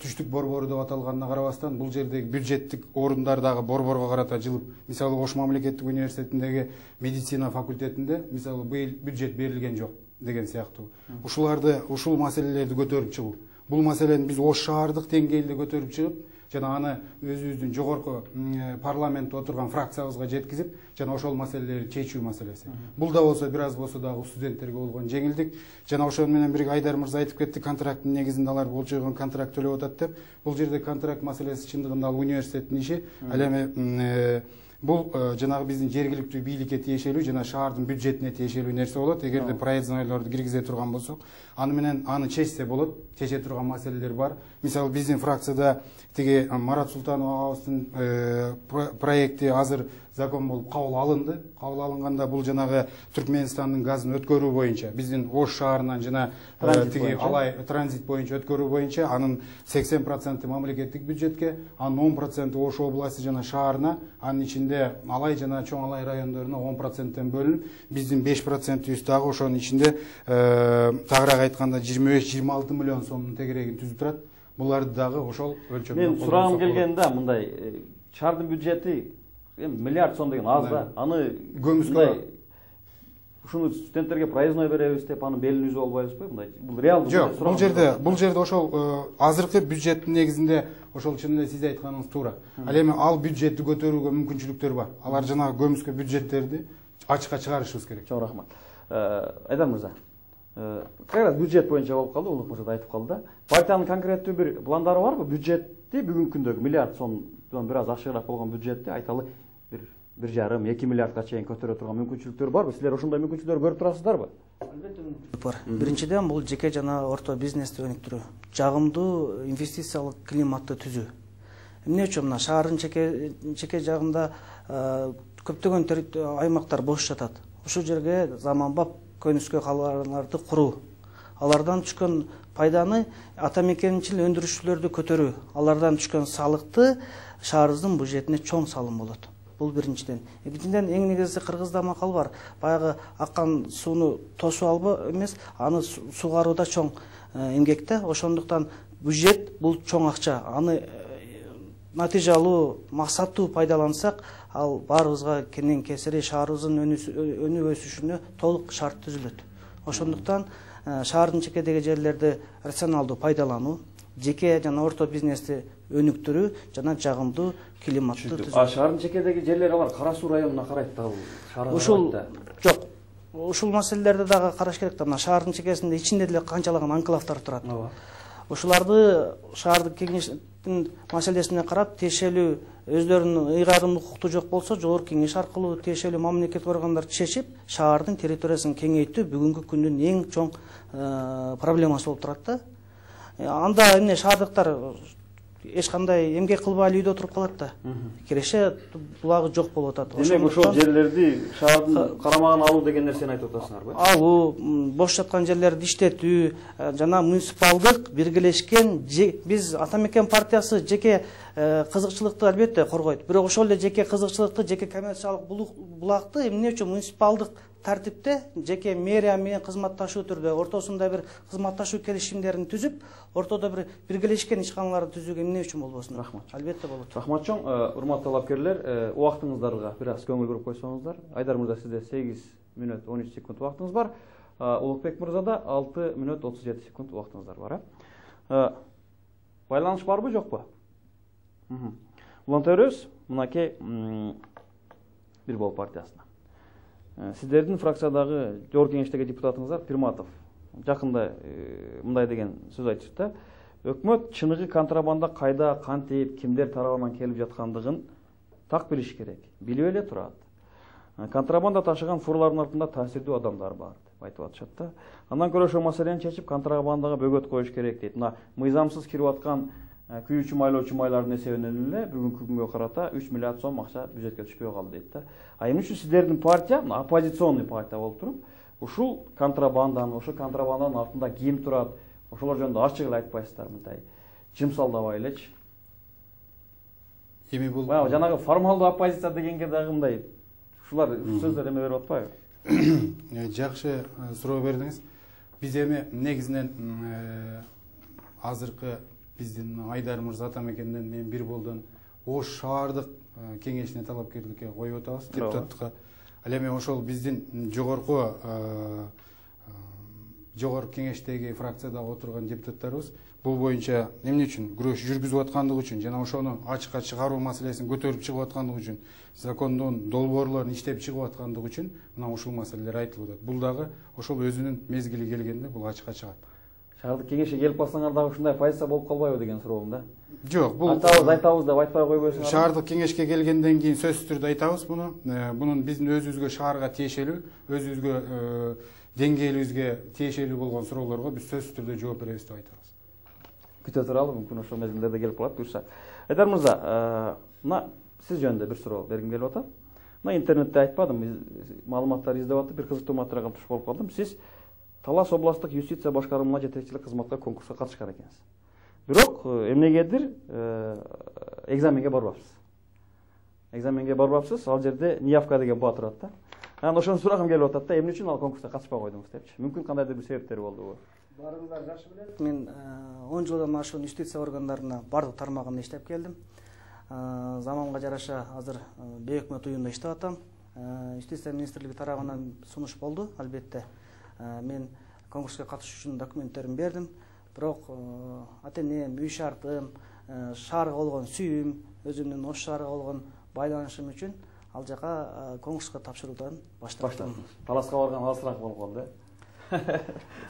түштүк борбору деп аталганына карабастан бул жердеги бюджеттик орундар дагы борборго карата жылып. Мисалы Ош мамлекеттик университетиндеги медицина факультетинде мисалы быйыл бюджет берилген жок деген сыяктуу. Ушуларды, ушул маселелерди көтөрүп чыгуу. Бул маселени биз Ош шаардык деңгээлде көтөрүп чыгып, жана аны өзүбүздүн жогорку парламентте отурган фракциябызга жеткизип, жана ошол маселелерди чечүү маселеси. Бул да болсо бир аз болсо дагы студенттерге болгон жеңилдик. Жана ошол менен бирге Айдар мырза айтып кетти, контракттын негизинде алар болчойгон контракт төлөп атат деп. Бул жерде контракт маселеси чындыгында ал университеттин иши. Ал эми бул жанагы биздин жергиликтүү бийликке тиешелүү жана шаардын бюджетине тиешелүү нерсе болот. Эгерде проезднойлорду киргизе турган болсок, аны менен аны чечсе болот. Чече турган маселелер бар. Мисалы биздин фракцияда тиги Марат Султанов агабыздын проекти азыр закон болуп кабыл алынды. Кабыл алынганда бул жанагы Түркмөнстандын газын өткөрүү боюнча, биздин Ош шаарынан жана тиги алай транзит боюнча өткөрүү боюнча анын сексен проценти мамлекеттик бюджетке, анын он проценти Ош областы жана шаарына, анын ичинде алай жана чоң алай райондоруна он проценттен бөлүнүп, биздин беш процентибиз дагы ошонун ичинде тагыраак айтканда жыйырма беш жыйырма алты миллион сомдун тегерегин түзүп турат. Буларды дагы ошол өлчөмдө. Мен сурагым келгенде мындай шаардын бюджети миллиард сом деген аз да. Аны көмүскө ушуну студенттерге проездной беребиз деп аны белин үзүп албайбызбы? Мындай бул реалдуу. Жок, бул жерде бул жерде ошол азыркы бюджеттин негизинде ошол чын эле сиз айтканыңыз туура. Ал эми ал бюджетти көтөрүүгө мүмкүнчүлүктөр бар. Алар жанагы көмүскө бюджеттерди ачыкка чыгарышыбыз керек. Чоң рахмат. Айдар мырза, как раз бюджет боюнча болуп калды, Улук мырза да айтып калды да. Партиянын конкреттүү бир пландары барбы? Бюджетти бүгүнкү күндөгү миллиард сомдон бир аз ашыгыраак болгон бюджетти айталы бир бир жарым эки миллиардга чейин көтөрө турган мүмкүнчүлүктөр барбы? Силер ошондой мүмкүнчүлүктөр көрүп турасыздарбы? Албетте мүмкүнчүлүк бар. Биринчиден бул жеке жана орто бизнести өнүктүрүү, жагымдуу инвестициялык климатты түзүү. Эмне үчүн мына шаардын чеке чеке жагында көптөгөн аймактар бош жатат. Ушул жерге заманбап көнүскө калаларды куруу, алардан түшкөн пайданы ата мекенчил өндүрүшчүлөрдү көтөрүү, алардан түшкөн салыкты шаарыбыздын бюджетине чоң салым болот. Бул биринчиден. Экинчиден эң негизги Кыргызда макал бар. Баягы аккан сууну тосуп албы эмес, аны сугарууда чоң эмгек да. Ошондуктан бюджет бул чоң акча. Аны натыйжалуу, максаттуу пайдалансак, ал баарыбызга кенен кесири шаарыбыздын өнүп өсүшүнө толук шарт түзүлөт. Ошондуктан шаардын чекедеги жерлерди рационалдуу пайдалануу, жеке жана орто бизнести өнүктүрүү жана жагымдуу климатты түзүү. А шаардын чекедеги жерлер алар Кара Суу районуна карайт да, бул шаарга. Ушул жок. Ушул маселелерди дагы караш керек да. Мына шаардын чекесинде ичинде деле канчалаган анклавдар турат. Ушуларды шаардык кеңештин маселесине карап тиешелүү өздөрүнүн ыйгарым укукту жок болсо жогорку кеңеш аркылуу тиешелүү мамлекеттик органдар чечип шаардын территориясын кеңейтүү бүгүнкү күндүн эң чоң проблемасы болуп турат да. Анда эмне шаардыктар эч кандай эмгек кылбай эле үйдө отуруп калат да. Киреше булагы жок болуп атат. Демек ошол жерлерди шаардын карамагына алуу деген нерсени айтып атасыңарбы? Алуу, бош жаткан жерлерди иштетүү жана муниципалдык биргелешкен биз Ата Мекен партиясы жеке кызыкчылыкты албетте коргойт. Бирок ошол эле жеке кызыкчылыкты, жеке коммерциялык булагды эмне үчүн муниципалдык тартипте жеке мэрия менен кызматташуу түрдө ортосунда бир кызматташуу келишимдерин түзүп, ортодо бир биргелешкен ишканаларды түзүүгө эмне үчүн болбосун? Рахмат. Албетте болот. Рахмат чоң, урматтуу талапкерлер, убактыңыздарга бир аз көңүл буруп койсоңуздар. Айдар мырза, сизде сегиз мүнөт он үч секунд убактыңыз бар. Улукбек мырзада алты мүнөт отуз жети секунд убактыңыздар бар, э? Байланыш барбы, жокпу? Улантабыз, мынакей бир бол партиясына. Сиздердин фракциядагы жогорку кеңештеги депутатыңыздар Пирматов жакында мындай деген сөз айтышты да. Өкмөт чыныгы контрабанда кайда, кантип, кимдер тарабынан келип жаткандыгын так билиш керек. Билип эле турат. Контрабанда ташыган фурлардын артында таасирдүү адамдар бар деп айтып атышат да. Андан көрө ошол маселени чечип, контрабандага бөгөт коюш керек дейт. Мына мыйзамсыз кирип аткан күйүүчү майлоочу майлардын эсебинен эле бүгүнкү күнгө карата үч миллиард сом акча бюджетке түшпөй калды дейт да. А эмне үчүн сиздердин партия, оппозиционный партия болуп туруп, ушул контрабанданы, ошол контрабанданын артында ким турат, ошолор жөнүндө ачык эле айтпайсыздар, мындай жымсалдабай элечи. Эми бул жанагы формалдуу оппозиция дегенге дагы мындай ушулар сөздөр эме берип атпайбы? Жакшы суроо бердиңиз. Биз эми негизинен азыркы биздин Айдар мырза Ата Мекенден мен бир болдон Ош шаардык кеңешине талапкерликке коюп атабыз, депутаттыкка. Ал эми ошол биздин жогорку жогорку кеңештеги фракцияда отурган депутаттарыбыз бул боюнча эмне үчүн күрөш жүргүзүп аткандыгы үчүн жана ошону ачыкка чыгаруу маселесин көтөрүп чыгып аткандыгы үчүн, закондун долбоорлорун иштеп чыгып аткандыгы үчүн мына ушул маселелер айтылып атат. Бул дагы ошол өзүнүн мезгили келгенде бул ачыкка чыгат. Шаардык кеңешке келип калсаңар дагы ушундай позиция болуп калбайбы деген суроом да. Жок, бул айтабыз, айтабыз деп айтпай койбойсуңар. Шаардык кеңешке келгенден кийин сөзсүз түрдө айтабыз муну. Бунун биздин өзүбүзгө шаарга тиешелүү, өзүбүзгө деңгээлибизге тиешелүү болгон суроолорго биз сөзсүз түрдө жооп беребиз деп айтабыз. Күтө туралы, мүмкүн ошол мезгилдерде келип калат буюрса. Айдар мырза, мына сиз жөнүндө бир суроо бергим келип атат. Мына интернетте айтпадым, маалыматтар издеп атып, бир кызыктуу материалга туш болуп калдым. Сиз Талас областтык юстиция башкармасына жетекчилик кызматка конкурска катышкан экенсиз. Бирок эмнегедир экзаменге барбапсыз. Экзаменге барбапсыз, ал жерде неявка деген баа турат да. Анан ошону сурагым келип атат да, эмне үчүн ал конкурска катышпай койдуңуз депчи. Мүмкүн кандайдыр бир себептери болдубу? Баарыңыздар жакшы билет. Мен он жылдан ашуун юстиция органдарына бардык тармагында иштеп келдим. Заманга жараша азыр бейөкмөт уюмда иштеп атам. Юстиция министрлиги тарабынан сунуш болду, албетте. Мен конкурска катышуу үчүн документтеримди бердим. Бирок ата-энем, үй шартым, шаарга болгон сүйүүм, өзүмдүн Ош шаарга болгон байланышым үчүн ал жака конкурска тапшыруудан баштадым. Таласка барган алысыраак болуп калды.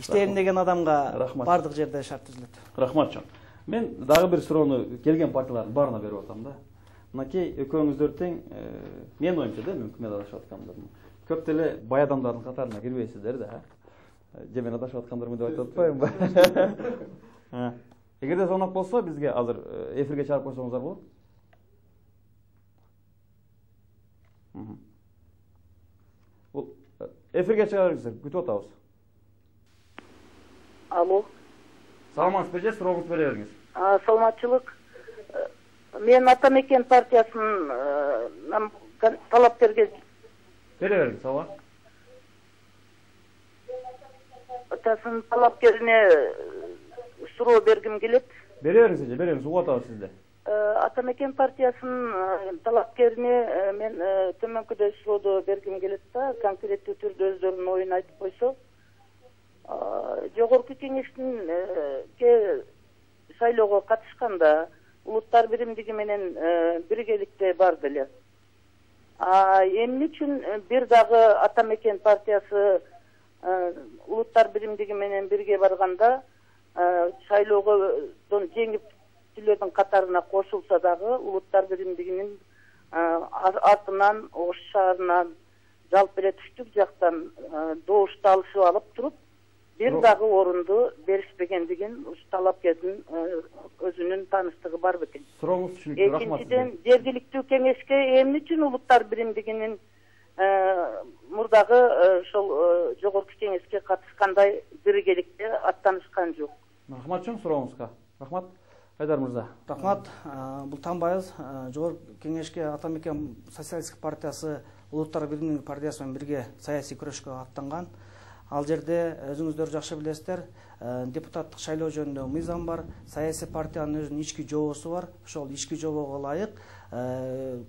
Иштейм деген адамга бардык жерде шарт түзүлөт. Рахмат чоң. Мен дагы бир суроону келген партиялардын баарына берип атам да. Мынакей экөөңүздөр тең, менин оюмча да, мүмкүн мен адашып аткандырмын. Көп деле бай адамдардын катарына кирбейсиздер да. Же мен адашып аткандырмын деп айтып атпаймынбы? Эгерде сонок болсо бизге азыр эфирге чыгарып койсоңуздар болот. Бул эфирге чыгарыңыздар, күтүп атабыз. Алло. Саламатсызбы же, сурооңузду бере бериңиз. Саламатчылык. Мен Ата Мекен партиясынын талапкерге бере бериңиз, ооба. Атасын талапкерине суроо бергим келет. Бере бериңиз же, бере бериңиз, угуп атабыз сизди. Ата Мекен партиясынын талапкерине мен төмөнкүдөй суроо бергим келет да, конкреттүү түрдө өздөрүнүн оюн айтып койсо. Жогорку кеңештин шайлоого катышканда улуттар биримдиги менен биргеликте барды эле. А эмне үчүн бир дагы Ата Мекен партиясы улуттар биримдиги менен бирге барганда шайлоодон жеңиптүүлөрдүн катарына кошулса дагы улуттар биримдигинин артынан Ош шаарынан жалпы эле түштүк жактан добушту алышып алып туруп бир дагы орунду беришпегендигин талапкердин өзүнүн тааныштыгы бар бекен. Сурооңуз түшүнүктүү, рахмат. Экинчиден, жергиликтүү кеңешке эмне үчүн улуттар биримдигинин мурдагы ошол жогорку кеңешке катышкандай биргеликте аттанышкан жок. Рахмат чоң сурооңузга. Рахмат. Айдар мырза. Рахмат. Бул таанбайбыз. Жогорку кеңешке Ата Мекен социалисттик партиясы улуттар биримдиги партиясы менен бирге саясий күрөшкө аттанган. Ал жерде өзүңүздөр жакшы билесиздер, депутаттык шайлоо жөнүндө мыйзам бар, саясий партиянын өзүнүн ички жобосу бар. Ошол ички жобого ылайык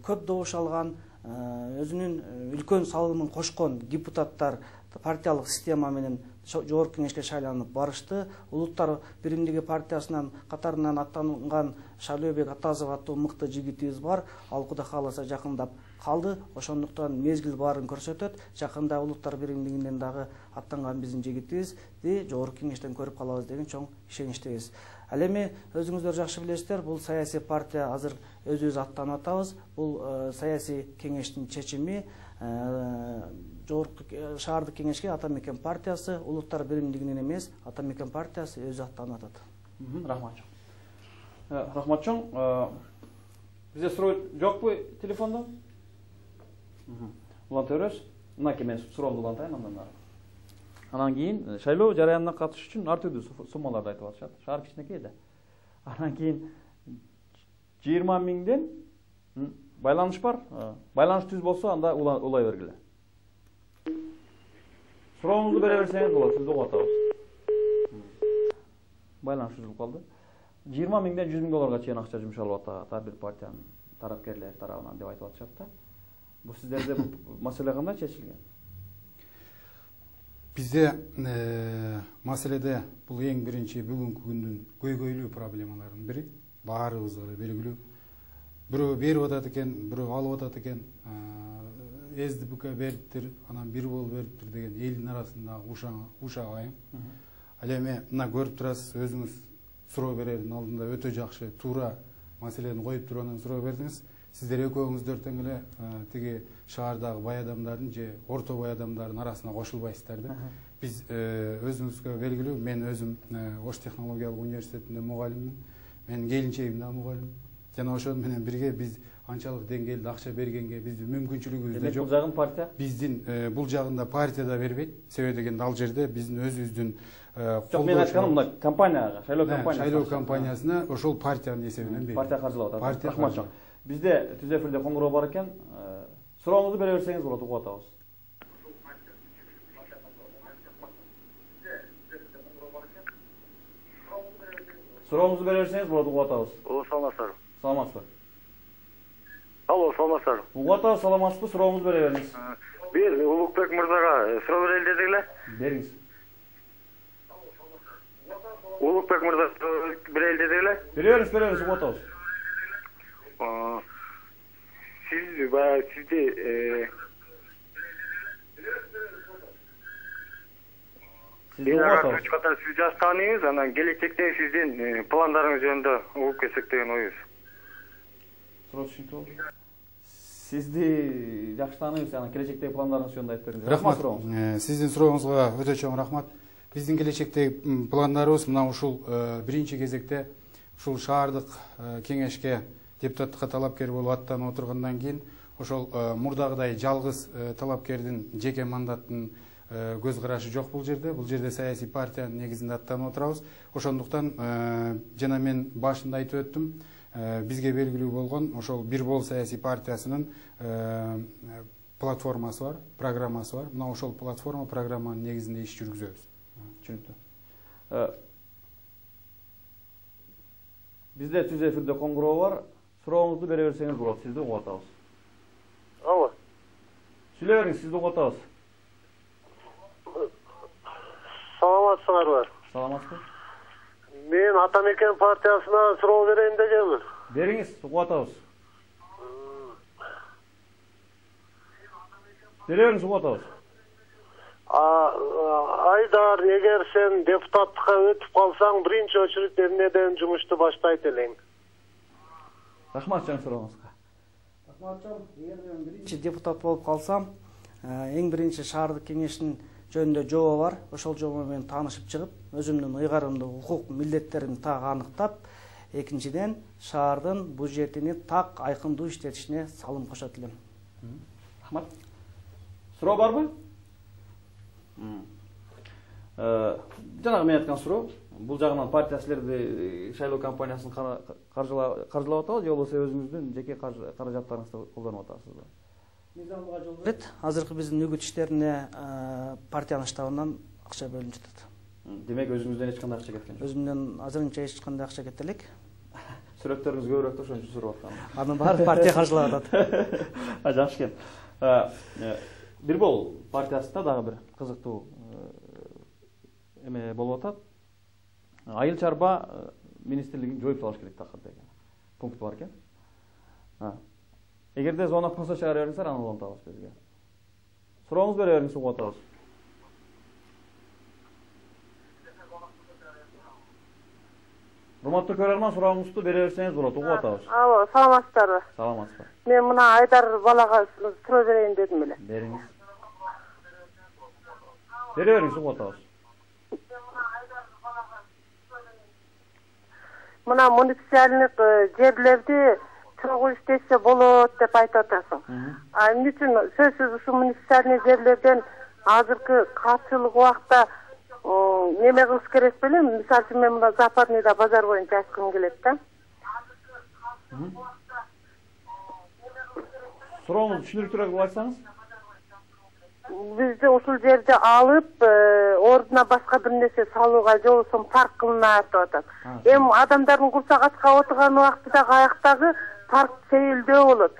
көп добуш алган, өзүнүн үлкөн салымын кошкон депутаттар партиялык система менен жогорку кеңешке шайланып барышты. Улуттар биримдиги партиясынан катарынан аттанган Шайлообек Атазов аттуу мыкты жигитибиз бар. Ал Кудай кааласа жакындап калды. Ошондуктан мезгил баарын көрсөтөт. Жакында улуттар биримдигинен дагы аттанган биздин жигитибизди жогорку кеңештен көрүп калабыз деген чоң ишеничтебиз. Ал эми өзүңүздөр жакшы билесиздер, бул саясий партия азыр өзүбүз аттанып атабыз. Бул саясий кеңештин чечими. Жогорку шаардык кеңешке Ата Мекен партиясы улуттар биримдигинен эмес, Ата Мекен партиясы өзү аттанып атат. Рахмат чоң. Рахмат чоң. Бизде суроо жокпу телефондо? Улантабыз. Мынакей мен суроомду улантайын андан ары. Анан кийин шайлоо жарыянына катышыш үчүн ар түрдүү суммаларды айтып атышат. Шаар кичинекей да. Анан кийин жыйырма миңден байланыш бар. Байланыш түз болсо анда улай бергиле. Сурооңузду бере берсеңиз болот, сизди угуп атабыз. Байланыш түзүлүп калды. жыйырма миңден жүз миң долларга чейин акча жумшалып атат ар бир партиянын тарапкерлери тарабынан деп айтып атышат да. Бул сиздерде бул маселе кандай чечилген? Бизде маселеде бул эң биринчи бүгүнкү күндүн көйгөйлүү проблемалардын бири, баарыбызга да белгилүү. Бирөө берип атат экен, бирөө алып атат экен, СДБК бериптир, анан бир бол бериптир деген элдин арасында ушак айым. Ал эми мына көрүп турасыз, өзүңүз суроо берердин алдында өтө жакшы, туура маселени коюп туруп анан суроо бердиңиз. Сиздер экөөңүздөр тең эле тиги шаардагы бай адамдардын же орто бай адамдардын арасына кошулбайсыздар да. Биз өзүңүзгө белгилүү, мен өзүм Ош технологиялык университетинде мугалиммин, менин келинчегим да мугалим. Жана ошол менен бирге биз анчалык деңгээлде акча бергенге биздин мүмкүнчүлүгүбүз да жок. Бул жагын партия? Биздин бул жагында партия да бербейт. Себеби дегенде ал жерде биздин өзүбүздүн Жок, мен айтканым мына компанияга, шайлоо компаниясына. Шайлоо компаниясына ошол партиянын эсебинен берет. Партия каржылап атат. Рахмат чоң. Бизде түз эфирде коңгуроо бар экен. Сурооңузду бере берсеңиз болот, угуп атабыз. Сурооңузду бере берсеңиз болот, угуп атабыз. О, саламатсызбы? Саламатсызбы? Алло, саламатсызбы? Угуп атабыз, саламатсызбы? Сурооңузду бере бериңиз. Бир Улукбек мырзага суроо берели дедик эле. Бериңиз. Улукбек мырза берели дедик эле. Бере бериңиз, бере бериңиз, угуп атабыз. Siz bayağı sizde e, Sizin var üç kadar siz jastanıyız, anan gelecekte sizin e, planlarınız yönünde olup kesek деген oyuz. Sizdi жакшы тааныйбыз, анан келечектеги пландарыңыз жөнүндө айтып бериңиз. Рахмат сурооңуз. Сиздин сурооңузга өтө чоң рахмат. Биздин келечектеги пландарыбыз мына ушул биринчи кезекте ушул шаардык кеңешке депутаттыкка талапкер болуп аттанып отургандан кийин ошол мурдагыдай жалгыз талапкердин жеке мандаттын көз карашы жок бул жерде. Бул жерде саясий партиянын негизинде аттанып отурабыз. Ошондуктан жана мен башында айтып өттүм, бизге белгилүү болгон ошол бир бол саясий партиясынын платформасы бар, программасы бар. Мына ошол платформа программанын негизинде иш жүргүзөбүз. Түшүнүктүү. Бизде түз эфирде коңгуроо бар. Сурооңузду бере берсеңиз болот, сизди угуп атабыз. Алло. Сүйлөй бериңиз, сизди угуп атабыз. Саламатсыңарбы? Саламатсызбы? Мен мен Атамекен партиясына суроо берейин дегенмин. Бериңиз, угуп атабыз. Бере бериңиз, угуп атабыз. Айдар, эгер сен депутаттыкка өтүп калсаң, биринчи очередь эмнеден жумушту баштайт элең? Рахмат жан сурооңузга. Рахматжан, эгер мен биринчи депутат болуп калсам, эң биринчи шаардык кеңештин жөнүндө жобо бар. Ошол жобо менен таанышып чыгып, өзүмдүн ыйгарымды, укук милдеттеримди так аныктап, экинчиден шаардын бюджетини так айкындуу иштетишине салым кошот элем. Рахмат. Суроо барбы? Жанагы мен айткан суроо, бул жагынан партия силерди шайлоо кампаниясын каржылап атабы, же болбосо өзүңүздүн жеке каражаттарыңызды колдонуп атасызбы? Мыйзамга жол берет. Азыркы биздин үгүт иштерине партиянын штабынан акча бөлүнүп жатат. Демек өзүңүздөн эч кандай акча кеткен жок? Өзүмдөн азырынча эч кандай акча кетти элек. Сүрөттөрүңүз көбүрөөк да ошон үчүн сурап аткам. Анын баары партия каржылап атат. Жакшы экен. Бирбол партиясында дагы бир кызыктуу эме болуп атат. Айыл чарба министрлигин жоюп салыш керек такыр деген пункт бар экен. Эгерде звонок болсо чыгара бериңиздер, аны улантабыз бизге. Сурооңуз бере бериңиз, угуп атабыз. Урматтуу көрөрман, сурооңузду бере берсеңиз болот, угуп атабыз. Алло, саламатсыздарбы? Саламатсызбы. Мен мына Айдар балага суроо берейин дедим эле. Бериңиз. Бере бериңиз, угуп атабыз. Мына муниципалдык жерлерди чогуу иштесе болот деп айтып атасың. А эмне үчүн сөзсүз ушул муниципалдык жерлерден азыркы катчылык убакта неме кылыш керек белем? Мисалы үчүн мен мына Западныйда базар боюнча ачкым келет да. Сурооңузду түшүнүктүүрөөк айтсаңыз? Бизди ушул жерди алып, ордуна башка бир нерсе салууга, же болбосо парк кылынат деп атат. Эми адамдардын курсак ачка отурган убактыда каяктагы парк сейилдөө болот.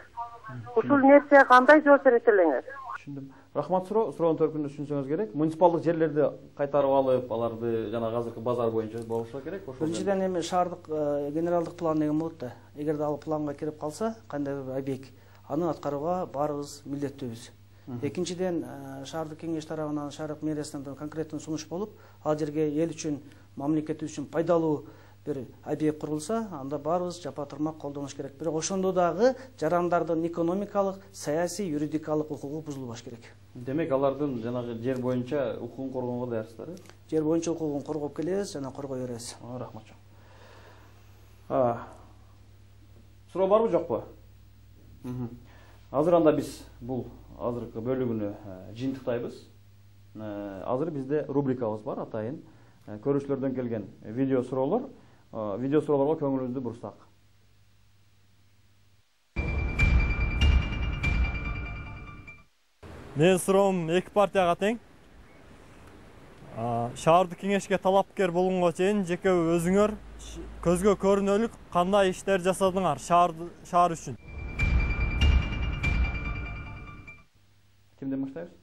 Ушул нерсеге кандай жооп берет элеңер? Түшүндүм. Рахмат суроо, суроонун төркүнүн түшүнсөңүз керек. Муниципалдык жерлерди кайтарып алып, аларды жана азыркы базар боюнча болушу керек. Ошол биринчиден эми шаардык генералдык план деген болот да. Эгерде ал планга кирип калса, кандай бир объект, аны аткарууга баарыбыз милдеттүүбүз. Экинчиден шаардык кеңеш тарабынан, шаардык мэриясынан конкреттүү сунуш болуп, ал жерге эл үчүн, мамлекет үчүн пайдалуу бир объект курулса, анда баарыбыз жапа турмак колдонуш керек. Бирок ошондо дагы жарандардын экономикалык, саясий, юридикалык укугу бузулбаш керек. Демек, алардын жанагы жер боюнча укугун коргоого даярсыздар, э? Жер боюнча укугун коргоп келебиз жана коргой беребиз. Рахмат жок. Суроо барбы, жокпу? Азыр анда биз бул азыркы бөлүгүнү жыйынтыктайбыз. Азыр бизде рубрикабыз бар, атайын көрүүчүлөрдөн келген видео суроолор. Видео суроолорго көңүлүңүздү бурсак. Менин суроом эки партияга тең. Шаардык кеңешке талапкер болгонго чейин жеке өзүңөр көзгө көрүнөлүк кандай иштер жасадыңар шаар үчүн? Кимден баштайбыз?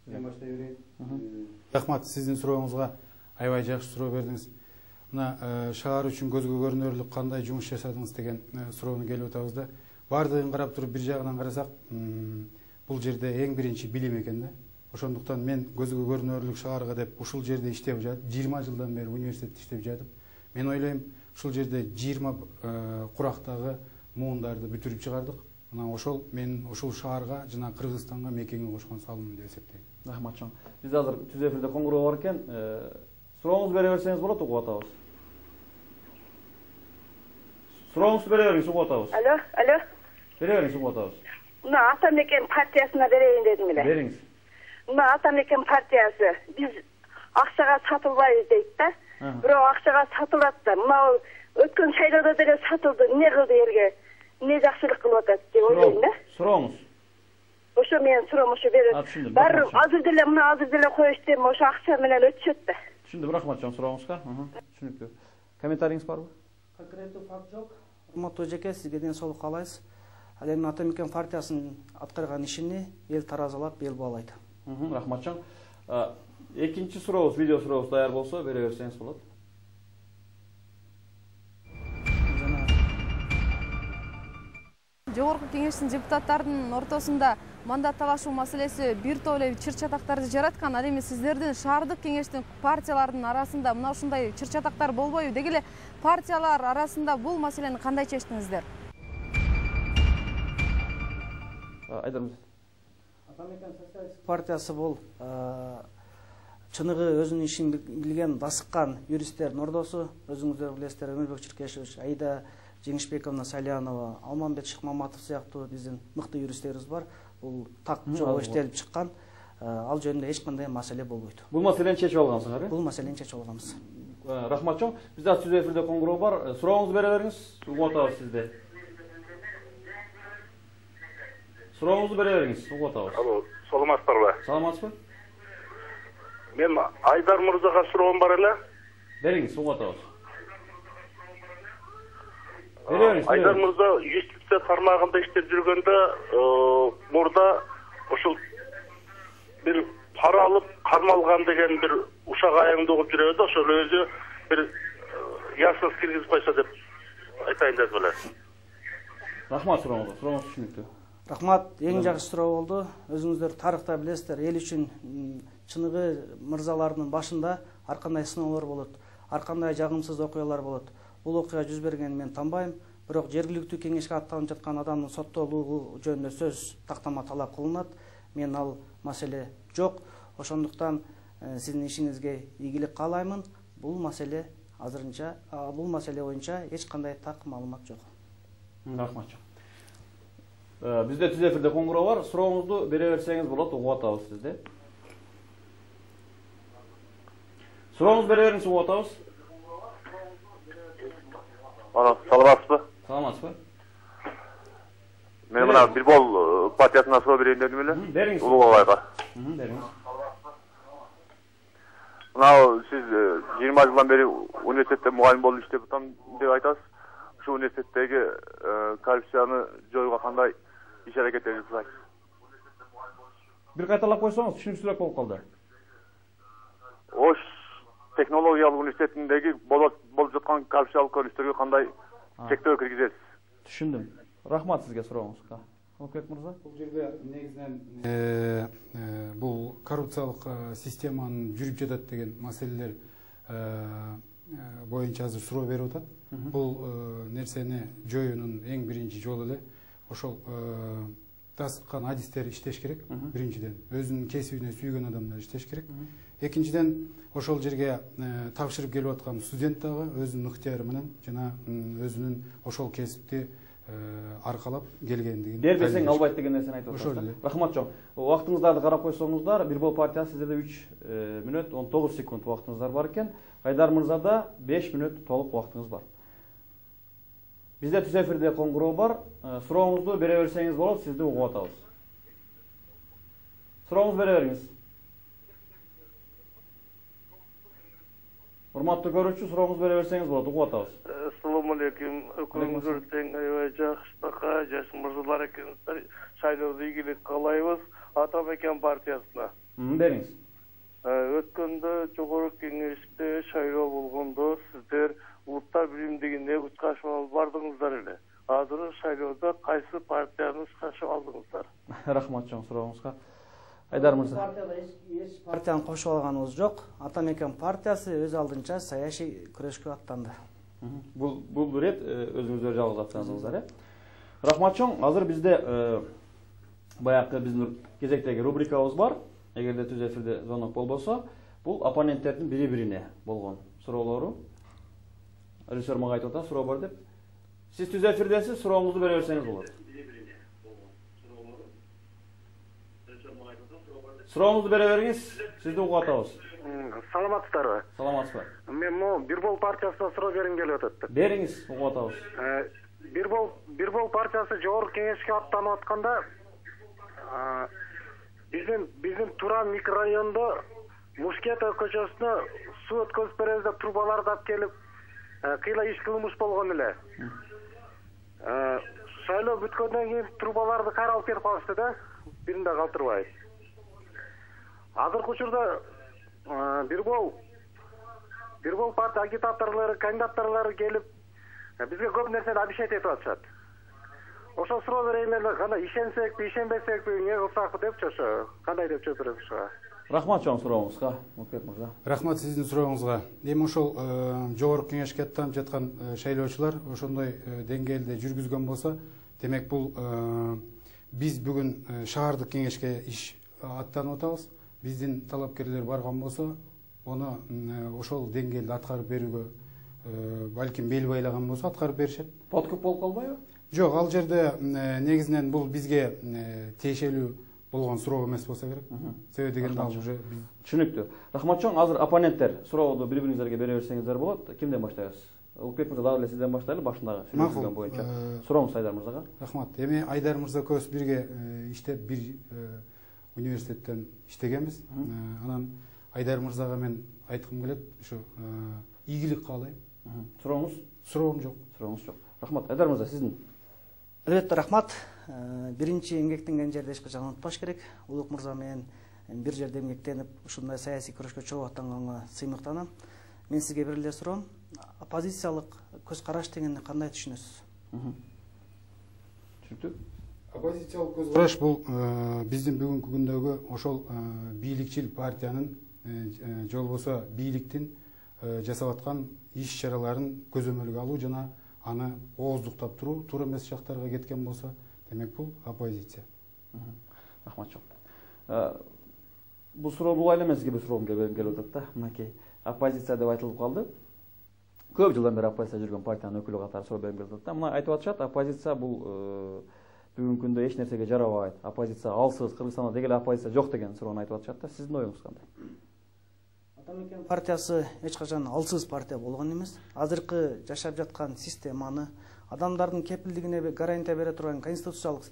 Мен баштай берейин. Рахмат, сиздин сурооңузга аябай жакшы суроо бердиңиз. Мына шаар үчүн көзгө көрүнөрлүк кандай жумуш жасадыңыз деген суроону келип атабыз да. Бардыгын карап туруп бир жагынан карасак, бул жерде эң биринчи билим экен да. Ошондуктан мен көзгө көрүнөрлүк шаарга деп ушул жерде иштеп жатып, жыйырма жылдан бери университетте иштеп жатып, мен ойлойм, ушул жерде жыйырма курактагы муундарды бүтүрүп чыгардык. Мына ошол мен ушул шаарга жана Кыргызстанга мекенге кошкон салымым деп эсептейм. Рахмат чоң. Биз азыр түз эфирде коңгуроо бар экен. Сурооңузду бере берсеңиз болот, угуп атабыз. Сурооңузду бере бериңиз, угуп атабыз. Алло, алло. Бере бериңиз, угуп атабыз. Мына Атамекен партиясына берейин дедим эле. Бериңиз. Мына Атамекен партиясы биз акчага сатылбайбыз дейт да. Бирок акчага сатылат да. Мына өткөн шайлоодо деле сатылды. Эмне кылды элге? Эмне жакшылык кылып атат деп ойлойм да. Сурооңуз. Ошо менин суроом ошо берет. Баары азыр деле мына азыр деле коюш дем, ошо акча менен өтүшөт да. Түшүндүм, рахмат чоң сурооңузга. Түшүнүктүү. Комментарийиңиз барбы? Конкреттүү факт жок. Урматтуу жеке, сизге ден соолук каалайбыз. Ал эми Атамекен партиясынын аткарган ишини эл таразалап, эл баалайт. Рахмат чоң. Экинчи сурообуз, видео сурообуз даяр болсо бере берсеңиз болот. жогорку кеңештин депутаттарынын ортосунда мандат талашуу маселеси бир топ эле чыр чатактарды жараткан. Ал эми сиздердин шаардык кеңештин партиялардын арасында мына ушундай чыр чатактар болбойбу? Деги эле партиялар арасында бул маселени кандай чечтиңиздер? Айдар мырза. Атамекен социалистик партиясы бул чыныгы өзүнүн ишин билген, дасыккан юристтердин ордосу. Өзүңүздөр билесиздер, Өмүрбек Чиркешевич, Аида Жеңишбековна Салянова, Алмамбет Шыкмаматов сыяктуу биздин мыкты юристтерибиз бар. Бул так жолго иштелип чыккан. Ал жөнүндө эч кандай маселе болбойт. Бул маселени чечип алгансыңар, э? Бул маселени чечип алганбыз. Рахмат чоң. Бизде түз эфирде коңгуроо бар. Сурооңузду бере бериңиз. Угуп атабыз сизди. Сурооңузду бере бериңиз. Угуп атабыз. Алло, саламатсыздарбы? Саламатсызбы? Мен Айдар мырзага суроом бар эле. Бериңиз, угуп атабыз. Бере бериңиз. Айдар мырза юстиция тармагында иштеп жүргөндө, мурда ошол бир пара алып кармалган деген бир ушак аягында угуп жүрөбүз, ошол өзү бир ясыз киргизип койсо деп айтайын деп эле. Рахмат сурооңузга. Сурооңуз түшүнүктүү. Рахмат, эң жакшы суроо болду. Өзүңүздөр тарыхта билесиздер, эл үчүн чыныгы мырзалардын башында ар кандай сыноолор болот, ар кандай жагымсыз окуялар болот. Бул окуя жүз бергенин мен танбайм, бирок жергиликтүү кеңешке аттанып жаткан адамдын соттолугу жөнүндө сөз тактама талап кылынат. Мен ал маселе жок. Ошондуктан сиздин ишиңизге ийгилик каалаймын. Бул маселе азырынча, бул маселе боюнча эч кандай так маалымат жок. Рахмат. Бизде түз эфирде коңгуроо бар. Сурооңузду бере берсеңиз болот, угуп атабыз сизди. Сурооңузду бере бериңиз, угуп атабыз. Ана, саламатсызбы? Саламатсызбы? Мен мына Билбол партиясына суроо берейин дедим эле. Бериңиз. Улуубайга. Бериңиз. Мына сиз жыйырма жылдан бери университетте мугалим болуп иштеп атам деп айтасыз. Ушул университеттеги коррупцияны жоюуга кандай иш аракеттер жасайсыз? Бир кайталап койсоңуз түшүнүксүзүрөөк болуп калды. Ош технологиялык университетиндеги болуп жаткан коррупциялык көрүнүштөргө кандай чектөө киргизесиз? Түшүндүм. Рахмат сизге сурооңузга. Окек мырза. Бул жерде негизинен бул коррупциялык системанын жүрүп жатат деген маселелер боюнча азыр суроо берип атат. Бул нерсени жоюунун эң биринчи жолу эле ошол тасыккан адистер иштеш керек. Биринчиден өзүнүн кесибине сүйгөн адамдар иштеш керек. Экинчиден ошол жерге тапшырып келип аткан студент дагы өзүнүн ыктыяры менен жана өзүнүн ошол кесипти аркалап келгендигин дербесең албайт деген нерсени айтып атасыздар. Рахмат чоң. Убактыңыздарды карап койсоңуздар, Билбол партиясы сиздерде үч мүнөт он тогуз секунд убактыңыздар бар экен. Айдар мырзада беш мүнөт толук убактыңыз бар. Бизде түз эфирде коңгуроо бар. Сурооңузду бере берсеңиз болот, сизди угуп атабыз. Сурооңузду бере бериңиз. Урматтуу көрүүчү, сурооңузду бере берсеңиз болот, угуп атабыз. Assalomu alaykum. Өкүлүңүздөр тең аябай жакшы, жаш мырзалар экенсиздер. Шайлоодо ийгилик каалайбыз Атамекен партиясына. Бериңиз. Өткөндө жогорку кеңеште шайлоо болгондо сиздер улуттар биримдигине катышып бардыңыздар эле. Азыр шайлоодо кайсы партияны катышып алдыңыздар? Рахмат чоң сурооңузга. Айдар мырза. Партияда эч партияны кошуп алганыбыз жок. Атамекен партиясы өз алдынча саясий күрөшкө аттанды. Бул бул рет өзүңүздөр жалгыз аттандыңыздар, э? Рахмат чоң. Азыр бизде баягы биздин кезектеги рубрикабыз бар. Эгерде түз эфирде звонок болбосо, бул оппоненттердин бири-бирине болгон суроолору. Режиссер мага айтып атат, суроо бар деп. Сиз түз эфирдесиз, сурооңузду бере берсеңиз болот. Сурооңузду бере бериңиз, сизди угуп атабыз. Саламатсыздарбы? Саламатсызбы. Мен могу Билбол партиясына суроо бергим келип атат. Бериңиз, угуп атабыз. Билбол Билбол партиясы жогорку кеңешке аттанып атканда биздин биздин Туран микрорайонунда Мушкетов көчөсүнө суу өткөзүп беребиз деп трубаларды алып келип, кыйла иш кылмыш болгон эле. Шайлоо бүткөндөн кийин трубаларды кайра алып кетип калышты да, биринде калтырбай. Азыркы учурда Билбол Билбол партия агитаторлору, кандидаттарлары келип бизге көп нерсени обещать этип атышат. ошо суроо берейин эле, кандай ишенсекпи, ишенбесекпи, эмне кылсакпы депчи, ошо кандай деп жооп бересиз ошого? Рахмат чоң сурооңузга, Мукбек мырза. Рахмат сиздин сурооңузга. Эми ошол жогорку кеңешке аттанып жаткан шайлоочулар ошондой деңгээлде жүргүзгөн болсо, демек бул биз бүгүн шаардык кеңешке иш аттанып атабыз. Биздин талапкерлер барган болсо, аны ошол деңгээлде аткарып берүүгө балким бел байлаган болсо аткарып беришет. Подкуп болуп калбайбы? Жок, ал жерде негизинен бул бизге тиешелүү болгон суроо эмес болсо керек. Себеби дегенде ал уже түшүнүктүү. Рахмат чоң, азыр оппоненттер суроодо бири-бириңизерге бере берсеңиздер болот. Кимден баштайбыз? Улукбек мырза, дагы эле сизден баштайлы, башындагы сүйлөшүлгөн боюнча. Сурооңуз Айдар мырзага. Рахмат. Эми Айдар мырза көз бирге иштеп бир университеттен иштегенбиз. Анан Айдар мырзага мен айткым келет, ушу ийгилик каалайм. Сурооңуз? Суроом жок. Сурооңуз жок. Рахмат. Айдар мырза, сиздин. Албетте рахмат. Биринчи эмгектенген жерде эч качан унутпаш керек. Улук мырза менен бир жерде эмгектенип, ушундай саясий күрөшкө чогуу аттанганга сыймыктанам. Мен сизге бир эле суроом. Оппозициялык көз караш дегенди кандай түшүнөсүз? Түшүнүктүү. Оппозициялык көз караш бул биздин бүгүнкү күндөгү ошол бийликчил партиянын же болбосо бийликтин жасап аткан иш-чараларын көзөмөлгө алуу жана аны ооздуктап туруу, туура эмес жактарга кеткен болсо, демек бул оппозиция. Рахмат чоң. Бул суроо бул айла эмес, бир суроом келип атат да. Мынакей оппозиция деп айтылып калды. Көп жылдан бери оппозиция жүргөн партиянын өкүлү катары суроо берип келип атат да. Мына айтып атышат, оппозиция бул бүгүнкү күндө эч нерсеге жарабайт. Оппозиция алсыз, Кыргызстанда деги эле оппозиция жок деген суроону айтып атышат да. Сиздин оюңуз кандай? Атамекен партиясы эч качан алсыз партия болгон эмес. Азыркы жашап жаткан системаны, адамдардын кепилдигине гарантия бере турган конституциялык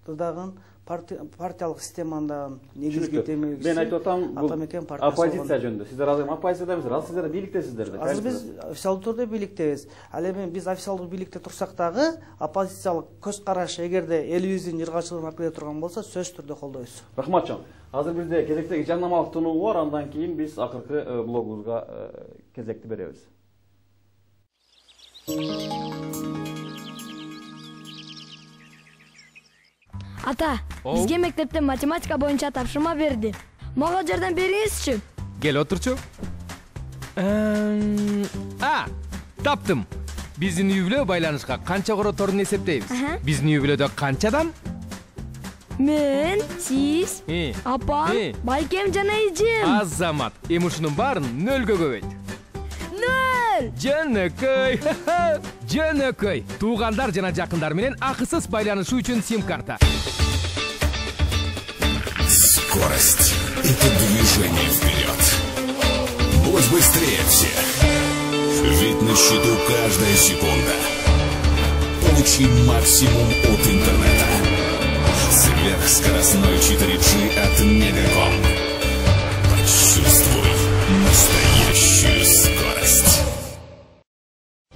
дагы партиялык системаны негизги темелгичи. Мен айтып атам, бул Атамекен партиясы оппозиция жөнүндө. Сиздер азыр оппозициядасыздар, ал сиздер бийликтесиздер да. Азыр биз официалдуу түрдө бийликтебиз. Ал эми биз официалдуу бийликте турсак дагы оппозициялык көз караш эгерде элибиздин жыргачылыгын алып келе турган болсо, сөзсүз түрдө колдойбуз. Рахмат чоң. Азыр бизде кезектеги жарнамалык тунуу бар, андан кийин биз акыркы блогубузга кезекти беребиз. Ата, бизге мектепте математика боюнча тапшырма берди. Мага жардам бериңизчи. Кел отурчу. А, таптым. Биздин үй бүлө байланышка канча короторун эсептейбиз? Биздин үй бүлөдө канча адам? Мен, сиз, апам, байкем жана эжем. Азамат, эми ушунун баарын нөлгө көбөйт. Нөл! Жөнөкөй. Жөнөкөй. Туугандар жана жакындар менен акысыз байланышуу үчүн сим-карта. Скорость – это движение вперед. Будь быстрее всех. Ведь на счету каждая секунда. Получи максимум от интернета. Сверхскоростной четыре джи от Мегаком. Почувствуй настоящую скорость.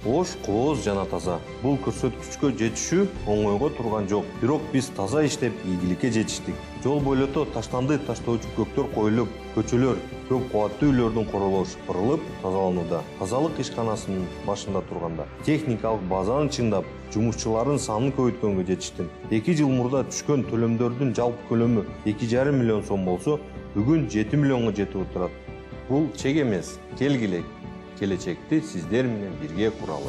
Ош, кооз жана таза. Бул көрсөткүчкө жетишүү оңойго турган жок. Бирок биз таза иштеп, ийгиликке жетиштик. Жол бойлото таштанды таштоочу көктөр коюлуп, көчөлөр, көп кубаттуу үйлөрдүн королоо шыпырылып тазаланууда. Тазалык ишканасынын башында турганда техникалык базаны чыңдап, жумушчулардын санын көбөйткөнгө жетиштим. эки жыл мурда түшкөн төлөмдөрдүн жалпы көлөмү эки жарым миллион сом болсо, бүгүн жети миллионго жетип отурат. Бул чек эмес, келгиле. Келечекти сиздер менен бирге куралы.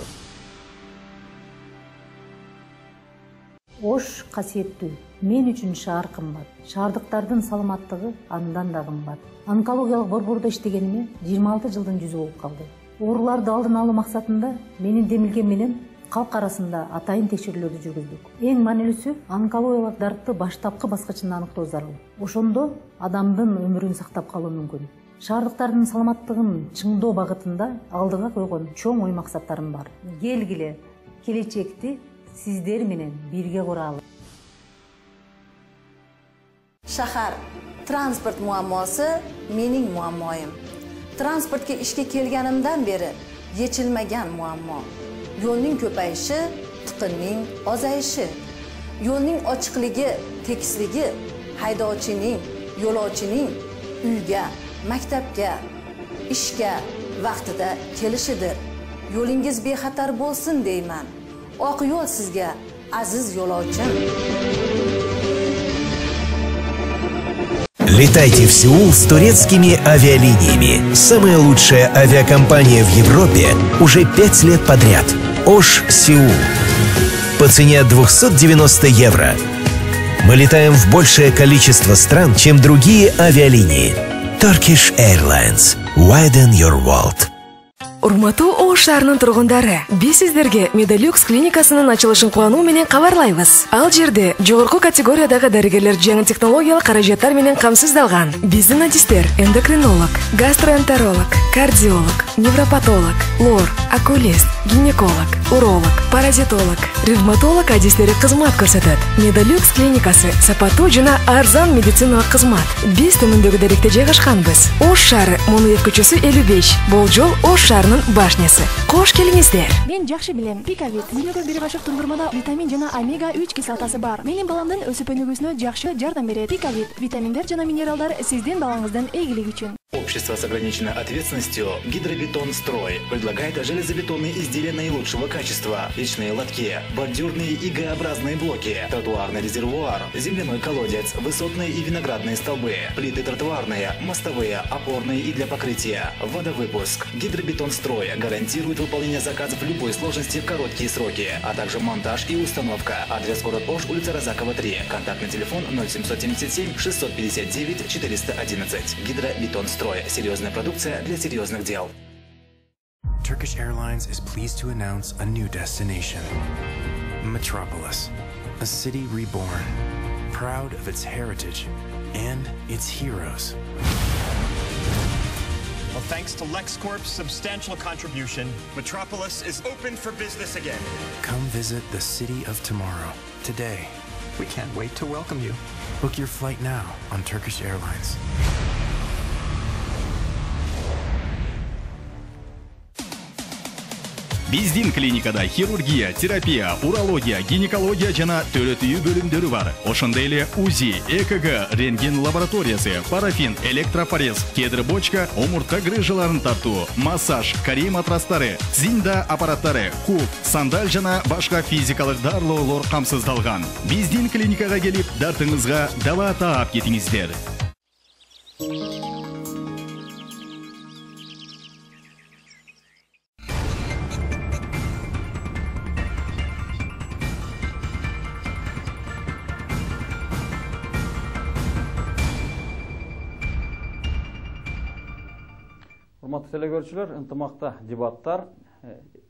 Ош касиеттүү. Мен үчүн шаар кымбат. Шаардыктардын саламаттыгы андан да кымбат. Онкологиялык борбордо иштегениме жыйырма алты жылдын жүзү болуп калды. Ооруларды алдын алуу максатында менин демилгем менен калк арасында атайын текшерүүлөрдү жүргүздүк. Эң маанилүүсү онкологиялык дартты баштапкы баскычында аныктоо зарыл. Ошондо адамдын өмүрүн сактап калуу мүмкүн. Шаардыктардын саламаттыгын чыңдоо багытында алдыга койгон чоң ой максаттарым бар. Келгиле, келечекти сиздер менен бирге куралы. Шахар транспорт муаммосы менин муаммоюм. Транспортке ишке келганымдан бери ечилмеген муаммо. Yo'lning ko'payishi, tiqinning ozayishi. Yo'lning ochiqligi, tekisligi haydovchining, yo'lovchining uyga, maktabga, ishga vaqtida kelishidir. Yo'lingiz bexatar bo'lsin deyman. Oq yo'l sizga aziz yo'lovchim. Летайте в Сеул с турецкими авиалиниями. Самая лучшая авиакомпания в Европе уже пять лет подряд. Ош Сеул. По цене от двухсот девяноста евро. Мы летаем в большее количество стран, чем другие авиалинии. Turkish Airlines. Widen your world. Урматтуу Ош шаарынын тургундары, биз сиздерге Медалюкс клиникасынын ачылышын кубануу менен кабарлайбыз. Ал жерде жогорку категориядагы дарыгерлер жаңы технологиялык каражаттар менен камсыздалган. Биздин адистер эндокринолог, гастроэнтеролог, кардиолог, невропатолог, лор, окулист, гинеколог, уролог, паразитолог, ревматолог адистери кызмат көрсөтөт. Медалюкс клиникасы сапаттуу жана арзан медициналык кызмат. Биз төмөндөгү даректе жайгашканбыз. Ош шаары, Монует көчөсү элүү беш. Бул жол Ош шаарынын башнясы. Кош келиңиздер. Мен жакшы билем. Пикавит. Дүйнөгө бир башык тундурмада витамин жана омега үч кислотасы бар. Менин баламдын өсүп өнүгүүсүнө жакшы жардам берет. Пикавит. Витаминдер жана минералдар сиздин балаңыздын ийгилиги үчүн. Общество с ограниченной ответственностью «Гидробетон Строй» предлагает железобетонные изделия наилучшего качества, печные лотки, бордюрные и Г-образные блоки, тротуарный резервуар, земляной колодец, высотные и виноградные столбы, плиты тротуарные, мостовые, опорные и для покрытия, водовыпуск. «Гидробетон Строй» гарантирует выполнение заказов любой сложности в короткие сроки, а также монтаж и установка. Адрес город Ош, улица Розакова, три. Контактный телефон ноль семьсот семьдесят семь шестьсот пятьдесят девять четыреста одиннадцать. «Гидробетон Строй». Серьезная продукция для серьезных дел. Turkish Airlines is pleased to announce a new destination. Metropolis, a city reborn, proud of its heritage and its heroes. Well, thanks to LexCorp's substantial contribution, Metropolis is open for business again. Come visit the city of tomorrow, today. We can't wait to welcome you. Book your flight now on Turkish Airlines. Биздин клиникада хирургия, терапия, урология, гинекология жана төрөтүү бөлүмдөрү бар. Ошондой эле УЗИ, ЭКГ, рентген лабораториясы, парафин, электропорез, кедр бочка, омуртка грыжаларын тартуу, массаж, корей матрастары, зинда аппараттары, куб, сандаль жана башка физикалык дарылоолор камсыздалган. Биздин клиникага келип, дартыңызга дава таап кетиңиздер. Урматтуу телекөрүүчүлөр, ынтымакта дебаттар.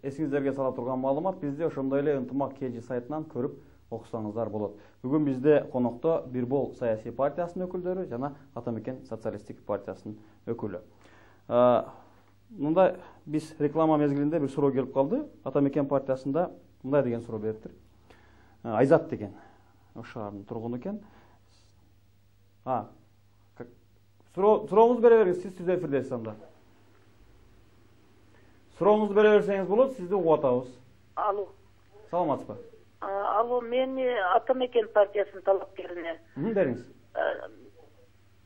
Эсиңиздерге сала турган маалымат бизде ошондой эле ынтымак кж сайтынан көрүп окусаңыздар болот. Бүгүн бизде конокто Бирбол саясий партиясынын өкүлдөрү жана Атамекен социалисттик партиясынын өкүлү. Мындай биз реклама мезгилинде бир суроо келип калды. Атамекен партиясында мындай деген суроо бериптир. Айзат деген Ош шаарынын тургуну экен. А, сурооңузду бере бериңиз, сиз түз эфирдесиз анда. Сурооңузду бере берсеңиз болот, сизди угуп атабыз. Алло. Саламатсызбы? Алло, мен Атамекен партиясынын талапкерине. Бериңиз.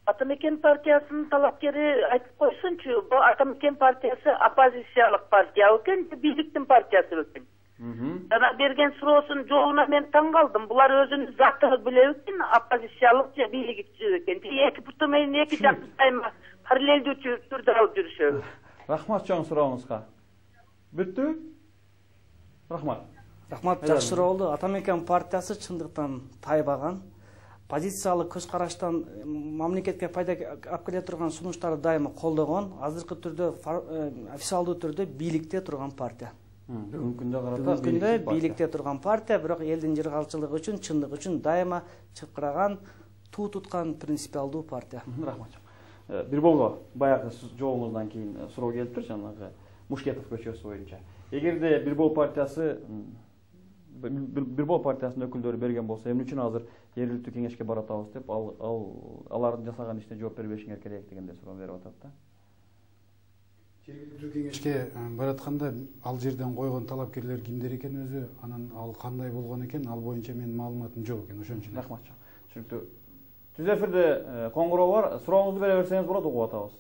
Атамекен партиясынын талапкери айтып койсунчу, бул Атамекен партиясы оппозициялык партия экен, бийликтин партиясы экен. Жана берген суроосунун жообуна мен таң калдым. Булар өзүнүн заты билет экен, оппозициялык же бийликчи экен. Эки буту менен эки жакты сайма параллелдүү түрдө алып жүрүшөбү. Рахмат чоң сурооңузга. Бүттү? Рахмат. Рахмат, жакшы суроо болду. Атамекен партиясы чындыктан тайбаган. Позициялык көз караштан мамлекетке пайда алып келе турган сунуштарды дайыма колдогон, азыркы түрдө официалдуу түрдө бийликте турган партия. Бүгүнкү күндө карата Бүгүнкү күндө бийликте турган партия, бирок элдин жыргалчылыгы үчүн, чындык үчүн дайыма чыкыраган, туу туткан принципиалдуу партия. Рахмат. Бирболго баягы жообуңуздан кийин суроо келиптир, жанагы Мушкетов көчөсү боюнча. Эгерде Бирбол партиясы Бирбол партиясынын өкүлдөрү берген болсо, эмне үчүн азыр жергиликтүү кеңешке баратабыз деп, ал алардын жасаган ишине жооп бербешиңер керек дегенде суроо берип атат да. Жергиликтүү кеңешке баратканда ал жерден койгон талапкерлер кимдер экен өзү, анан ал кандай болгон экен, ал боюнча менин маалыматым жок экен, ошон үчүн. Рахмат. Түшүнүктүү. Түз эфирде коңгуроо бар, сурооңузду бере берсеңиз болот, угуп атабыз.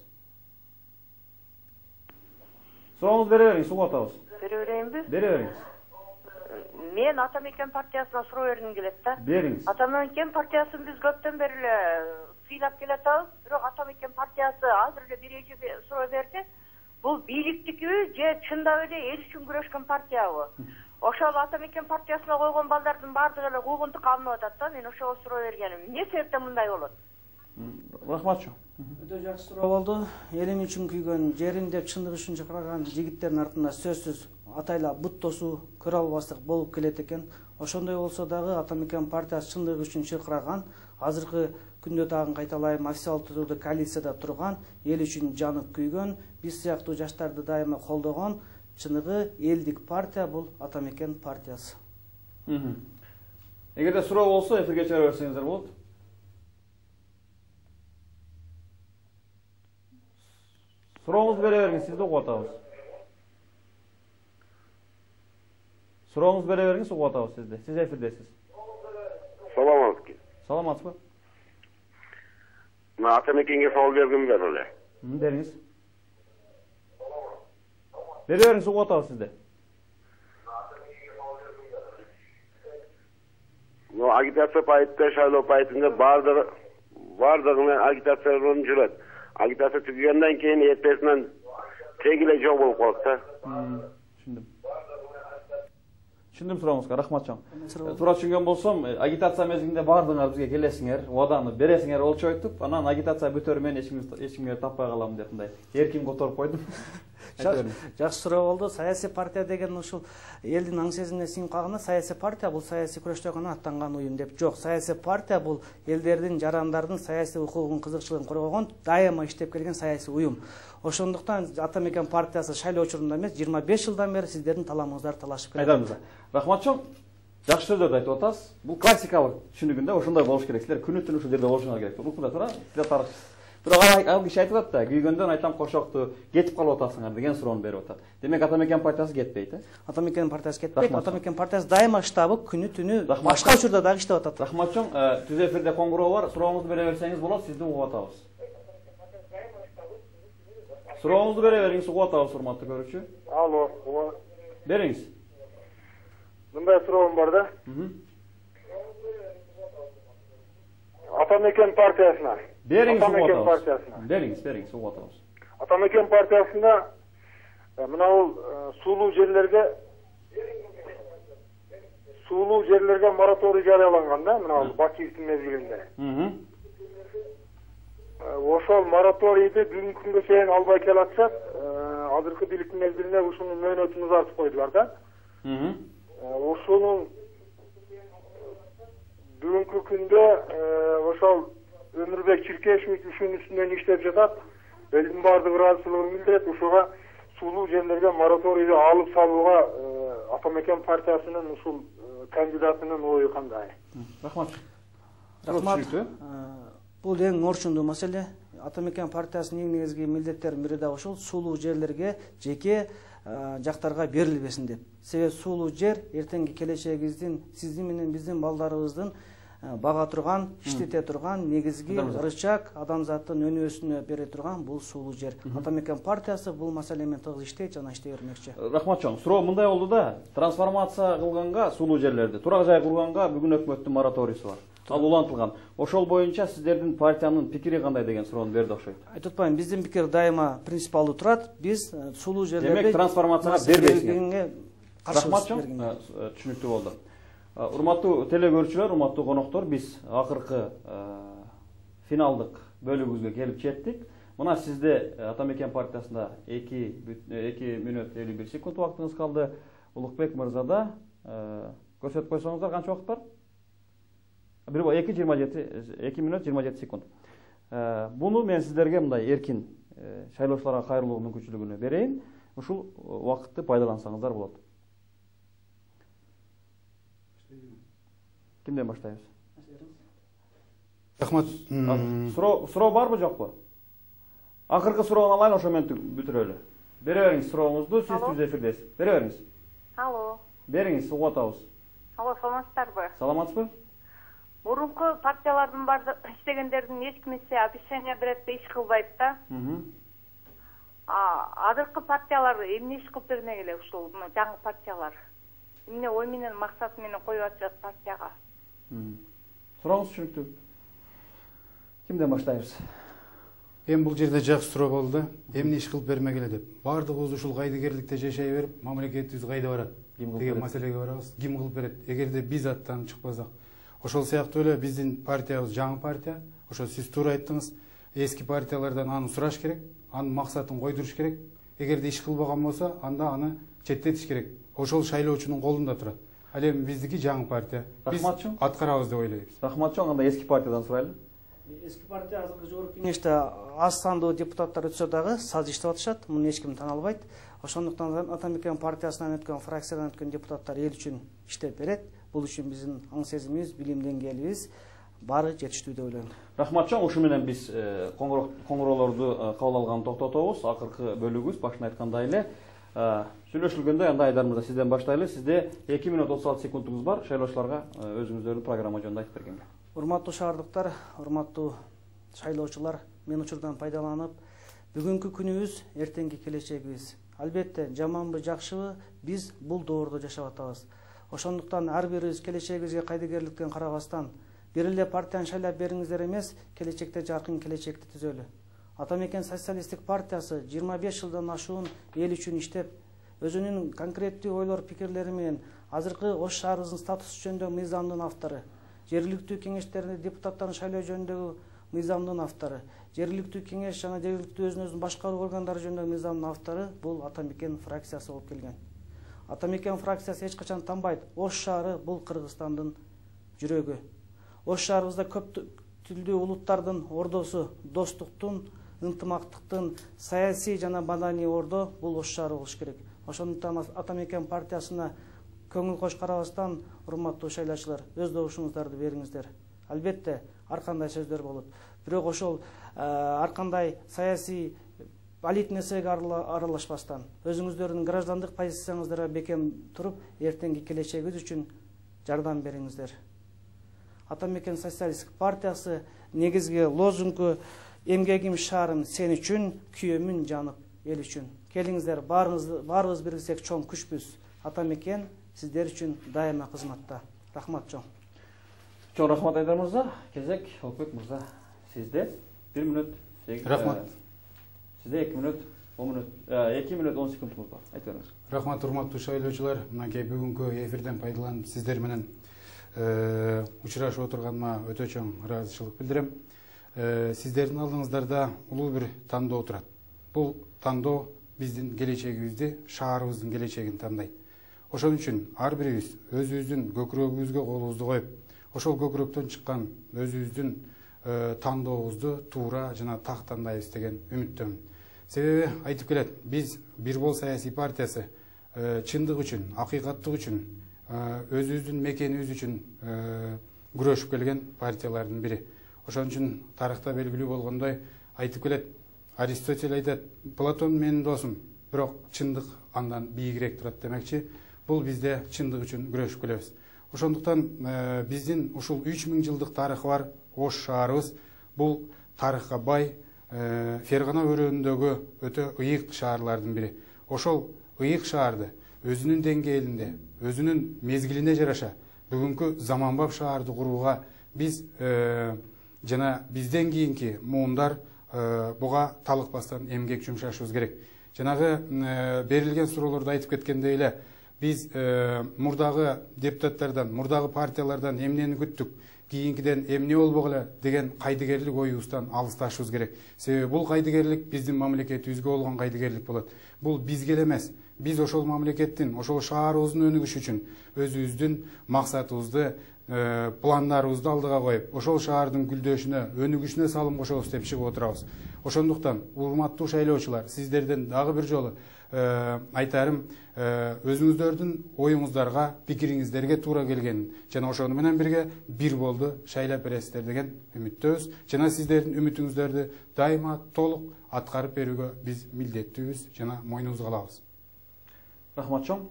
Сурооңузду бере бериңиз, угуп атабыз. Бере берейинби? Бере бериңиз. Мен Ата Мекен партиясына суроо бергим келет да. Бериңиз. Ата Мекен партиясын биз көптөн бери эле сыйлап келатабыз, бирок Ата Мекен партиясы азыр эле бир эже суроо берди. Бул бийликтикиби же чындап эле эл үчүн күрөшкөн партиябы? Ошол Ата Мекен партиясына койгон балдардын баардыгы эле куугунтук алынып атат да. Мен ошого суроо бергеним. Эмне себептен мындай болот? Рахматчы. Өтө жакшы суроо болду. Элим үчүн күйгөн, жерин деп чындык үчүн чакырган жигиттердин артында сөзсүз атайлап бут тосуу, көрө албастык болуп келет экен. Ошондой болсо дагы Ата Мекен партиясы чындык үчүн чакырган, азыркы күндө дагы кайталайм, официалдуу коалицияда турган, эл үчүн жанып күйгөн, биз сыяктуу жаштарды дайыма колдогон чыныгы элдик партия бул Ата Мекен партиясы. Эгерде суроо болсо эфирге чыгара берсеңиздер болот. Сурооңузду бере бериңиз, сизди угуп атабыз. Сурооңузду бере бериңиз, угуп атабыз сизди. Сиз эфирдесиз. Салам алейкум. Саламатсызбы? Мен Ата Мекенге суал бергим бар эле. Бериңиз. Бере бериңиз, угуп атабыз сизди. Но агитация пайтында, шайлоо пайтында баардыгы баардыгына агитациялар жүрөт. Агитация түгөгөндөн кийин эртесинен теги эле жок болуп калат да. Түшүндүм. Түшүндүм сурооңузга, рахматчан. Туура түшүнгөн болсом, агитация мезгилинде баардыгыңар бизге келесиңер, убаданы бересиңер болчу айтып, анан агитация бүтөр мен эч кимге таппай калам деп мындай эркин которуп койдум. Жакшы суроо болду. Саясий партия деген ушул элдин аң сезимине сиңип калганда, саясий партия бул саясий күрөштө гана аттанган уюм деп жок. Саясий партия бул элдердин, жарандардын саясий укугун, кызыкчылыгын коргогон, дайыма иштеп келген саясий уюм. Ошондуктан Ата Мекен партиясы шайлоо учурунда эмес, жыйырма беш жылдан бери сиздердин таламыңыздар талашып келет. Айдарыңыздар. Рахматчан, жакшы сөздөрдү айтып атасыз. Бул классикалык түшүнүгүндө ошондой болуш керек. Силер күнү түнү ушул жерде болушуңар керек. Укмуда туура? Силер тарыхчысыз. Бирок ал киши айтып атат да, күйгөндөн айтам кошокту, кетип калып атасыңар деген суроону берип атат. Демек Ата Мекен партиясы кетпейт, э? Ата Мекен партиясы кетпейт. Ата Мекен партиясы дайыма штабы күнү түнү башка учурда дагы иштеп атат. Рахматчан, түз эфирде коңгуроо бар. Сурооңузду бере берсеңиз болот, сизди угуп атабыз. Сурооңузду бере бериңиз, угуп атабыз, урматтуу көрүүчү. Алло, бериңиз. Мындай суроом бар да. Ата Мекен партиясына. Бериңиз, Ата Мекен угуп атабыз. партиясына. Бериңиз, бериңиз, угуп атабыз. Ата Мекен партиясында мына бул суулуу жерлерге суулуу жерлерге мораторий жарыяланган да, мына бул Бакиевдин мезгилинде. Ошол мораторийди бүгүнкү күнгө чейин албай келатышат. Азыркы бийликтин мезгилинде ушунун мөөнөтүн узартып койдулар да. Ошонун бүгүнкү күндө ошол Өмүрбек Чиркешевич ушунун үстүнөн иштеп жатат. Элдин баардыгы ыраазычылыгын билдирет. Ушуга суулуу жерлерге мораторийди алып салууга Ата Мекен партиясынын ушул кандидатынын ою кандай? Рахмат. Рахмат. Бул эң орчундуу маселе. Ата Мекен партиясынын эң негизги милдеттеринин бири да ошол суулуу жерлерге жеке жактарга берилбесин деп. Себеби суулуу жер эртеңки келечегибиздин, сиздин менен биздин балдарыбыздын бага турган, иштете турган негизги рычаг, адамзаттын өнүгүүсүнө бере турган бул суулуу жер. Ата Мекен партиясы бул маселе менен тыгыз иштейт жана иштей бермекчи. Рахматчан, суроо мындай болду да, трансформация кылганга суулуу жерлерди, турак жай курганга бүгүн өкмөттүн мораторийси бар. Ал улантылган. Ошол боюнча сиздердин партиянын пикири кандай деген суроону берди окшойт. Айтып атпаймынбы, биздин пикир дайыма принципиалдуу турат. Биз суулуу жерлерди демек трансформацияга бербейсиңер. Рахматчан, түшүнүктүү болду. Урматтуу теле көрүүчүлөр, урматтуу коноктор, биз акыркы финалдык бөлүгүбүзгө келип жеттик. Мына сизде Ата Мекен партиясында эки мүнөт элүү бир секунд убактыңыз калды. Улукбек мырзада көрсөтүп койсоңуздар канча убакыт бар? эки жыйырма жети, эки мүнөт жыйырма жети секунд. Буну мен сиздерге мындай эркин шайлоочуларга кайрылуу мүмкүнчүлүгүнө берейин. Ушул убакытты пайдалансаңыздар болот. Кимден баштайбыз? Рахмат. Суроо суроо барбы жокпу? Акыркы суроону алайын, ошо менен бүтүрөлү. Бере бериңиз сурооңузду, сиз түз эфирдесиз. Бере бериңиз. Алло. Бериңиз, угуп атабыз. Алло, саламатсыздарбы? Саламатсызбы? Мурунку партиялардын баардык иштегендердин эч кимиси обещание берет да иш кылбайт да. Азыркы партиялар эмне иш кылып бермек эле ушул жаңы партиялар? эмне ой менен максат менен коюп атышат партияга. Сурооңуз түшүнүктүү. Кимден баштайбыз? Эми бул жерде жакшы суроо болду да. Эмне иш кылып бермегиле деп. Бардыгыбыз ушул кайдыгерликте жашай берип, мамлекетибиз кайда барат деген маселеге барабыз. Ким кылып берет? Эгерде биз аттанып чыкпасак, ошол сыяктуу эле биздин партиябыз жаңы партия. Ошо сиз туура айттыңыз. Эски партиялардан аны сураш керек, анын максатын койдуруш керек. Эгерде иш кылбаган болсо, анда аны четтетиш керек. Ошол шайлоочунун колунда турат. Ал эми биздики жаңы партия. Биз аткарабыз деп ойлойбуз. Рахматчон, анда эски партиядан сурайлы. Эски партия азыркы жогорку кеңеште аз сандуу депутаттар өтсө дагы саз иштеп атышат. Муну эч ким таналбайт. Ошондуктан Атамекен партиясынан өткөн, фракциядан өткөн депутаттар эл үчүн иштеп берет. Бул үчүн биздин аң сезимибиз, билим деңгээлибиз баары жетиштүү деп ойлойм. Рахматчон, ушу менен биз коңгуроолорду кабыл алганды токтотобуз. Акыркы бөлүгүбүз башында айткандай эле сүйлөшүлгөндөй, анда Айдар мырза сизден баштайлы. Сизде эки минут отуз алты секундуңуз бар. Шайлоочуларга өзүңүздөрдүн программа жөнүндө айтып бергенге. Урматтуу шаардыктар, урматтуу шайлоочулар, мен учурдан пайдаланып, бүгүнкү күнүбүз эртеңки келечегибиз. Албетте, жаманбы, жакшыбы, биз бул доордо жашап атабыз. Ошондуктан ар бирибиз келечегибизге кайдыгерликтен карабастан, бир эле партияны шайлап бериңиздер эмес, келечекте жаркын келечекти түзөлү. Атамекен социалисттик партиясы жыйырма беш жылдан ашуун эл үчүн иштеп, өзүнүн конкреттүү ойлор, пикирлери менен азыркы Ош шаарыбыздын статусу жөнүндө мыйзамдын автору, жергиликтүү кеңештерде депутаттарын шайлоо жөнүндөгү мыйзамдын автору, жергиликтүү кеңеш жана жергиликтүү өзүн-өзү башкаруу органдары жөнүндөгү мыйзамдын автору бул Атамекен фракциясы болуп келген. Атамекен фракциясы эч качан танбайт. Ош шаары бул Кыргызстандын жүрөгү. Ош шаарыбызда көп тилдүү улуттардын ордосу, достуктун, ынтымактыктын, саясий жана маданий ордо бул Ош шаары болуш керек. Ошондуктан Атамекен партиясына көңүл кош карабастан, урматтуу шайлоочулар, өз добушуңуздарды бериңиздер. Албетте, ар кандай сөздөр болот. Бирок ошол ар кандай саясий алит нерсеге аралашпастан, өзүңүздөрдүн граждандык позицияңыздарга бекем туруп, эртеңки келечегибиз үчүн жардам бериңиздер. Атамекен социалисттик партиясы негизги лозунгу эмгегим шаарым сен үчүн, күйөмүн жанып эл үчүн. Келиңиздер, баарыбыз бириксек чоң күчпүз. Атамекен сиздер үчүн дайыма кызматта. Рахмат чоң. Чоң рахмат Айдар мырза. Кезек Олкбек мырза. Сизде бир минут. Рахмат. Сизде эки минут он минут, эки минут он секундуңуз бар. Айтып бериңиз. Рахмат, урматтуу шайлоочулар. Мынакей бүгүнкү эфирден пайдаланып сиздер менен учурашып отурганыма өтө чоң ыраазычылык билдирем. Сиздердин алдыңыздарда улуу бир тандоо турат. Бул тандоо биздин келечегибизди, шаарыбыздын келечегин тандайт. Ошон үчүн ар бирибиз өзүбүздүн көкүрөгүбүзгө колубузду коюп, ошол көкүрөктөн чыккан өзүбүздүн тандообузду туура жана так тандайбыз деген үмүттөмүн. Себеби айтып келет, биз Бир Бол саясий партиясы чындык үчүн, акыйкаттык үчүн, өзүбүздүн мекенибиз үчүн күрөшүп келген партиялардын бири. Ошон үчүн тарыхта белгилүү болгондой айтып келет, Аристотель айтат, Платон менин досум, бирок чындык андан бийигирээк турат демекчи. Бул бизде чындык үчүн күрөшүп келебиз. Ошондуктан биздин ушул үч миң жылдык тарыхы бар Ош шаарыбыз бул тарыхка бай, Фергана өрөөнүндөгү өтө ыйык шаарлардын бири. Ошол ыйык шаарды өзүнүн деңгээлинде, өзүнүн мезгилине жараша бүгүнкү заманбап шаарды курууга биз жана бизден кийинки муундар буга талыкпастан эмгек жумшашыбыз керек. Жанагы берилген суроолордо айтып кеткендей эле, биз мурдагы депутаттардан, мурдагы партиялардан эмнени күттүк, кийинкиден эмне болбок эле деген кайдыгерлик оюбуздан алысташыбыз керек. Себеби бул кайдыгерлик биздин мамлекетибизге болгон кайдыгерлик болот. Бул бизге эле эмес, биз ошол мамлекеттин, ошол шаарыбыздын өнүгүшү үчүн өзүбүздүн максатыбызды, пландарыбызды алдыга коюп, ошол шаардын гүлдөшүнө, өнүгүшүнө салым кошобуз деп чыгып отурабыз. Ошондуктан, урматтуу шайлоочулар, сиздерден дагы бир жолу айтарым, өзүңүздөрдүн оюңуздарга, пикириңиздерге туура келгенин жана ошону менен бирге Бир Болду шайлап бересиздер деген үмүттөбүз. Жана сиздердин үмүтүңүздөрдү дайыма толук аткарып берүүгө биз милдеттүүбүз жана мойнубузга алабыз. Рахмат чоң.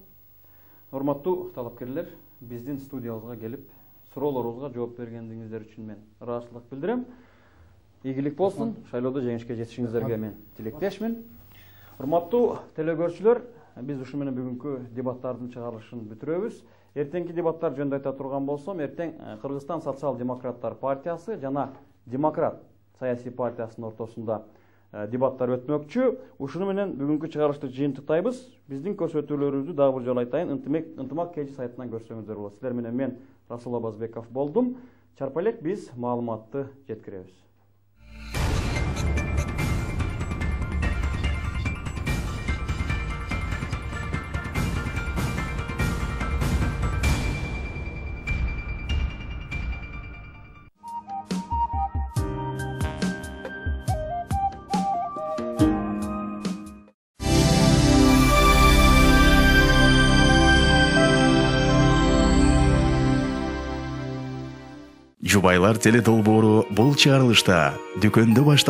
Урматтуу талапкерлер, биздин студиябызга келип, суроолорубузга жооп бергендигиңиздер үчүн мен ыраазычылык билдирем. Ийгилик болсун, шайлоодо жеңишке жетишиңиздерге мен тилектешмин. Урматтуу телекөрүүчүлөр, биз ушу менен бүгүнкү дебаттардын чыгарылышын бүтүрөбүз. Эртеңки дебаттар жөнүндө айта турган болсом, эртең Кыргызстан социал-демократтар партиясы жана Демократ саясий партиясынын ортосунда дебаттар өтмөкчү. Ушуну менен бүгүнкү чыгарылышты жыйынтыктайбыз. Биздин көрсөтүүлөрүбүздү дагы бир жолу айтайын, ынтымак кж сайтынан көрсөңүздөр болот. Силер менен мен Расул Абазбеков болдум. Чарпа элек биз маалыматты жеткиребиз. Жубайлар теле долбоору бул чыгарылышта дүкөндө башталган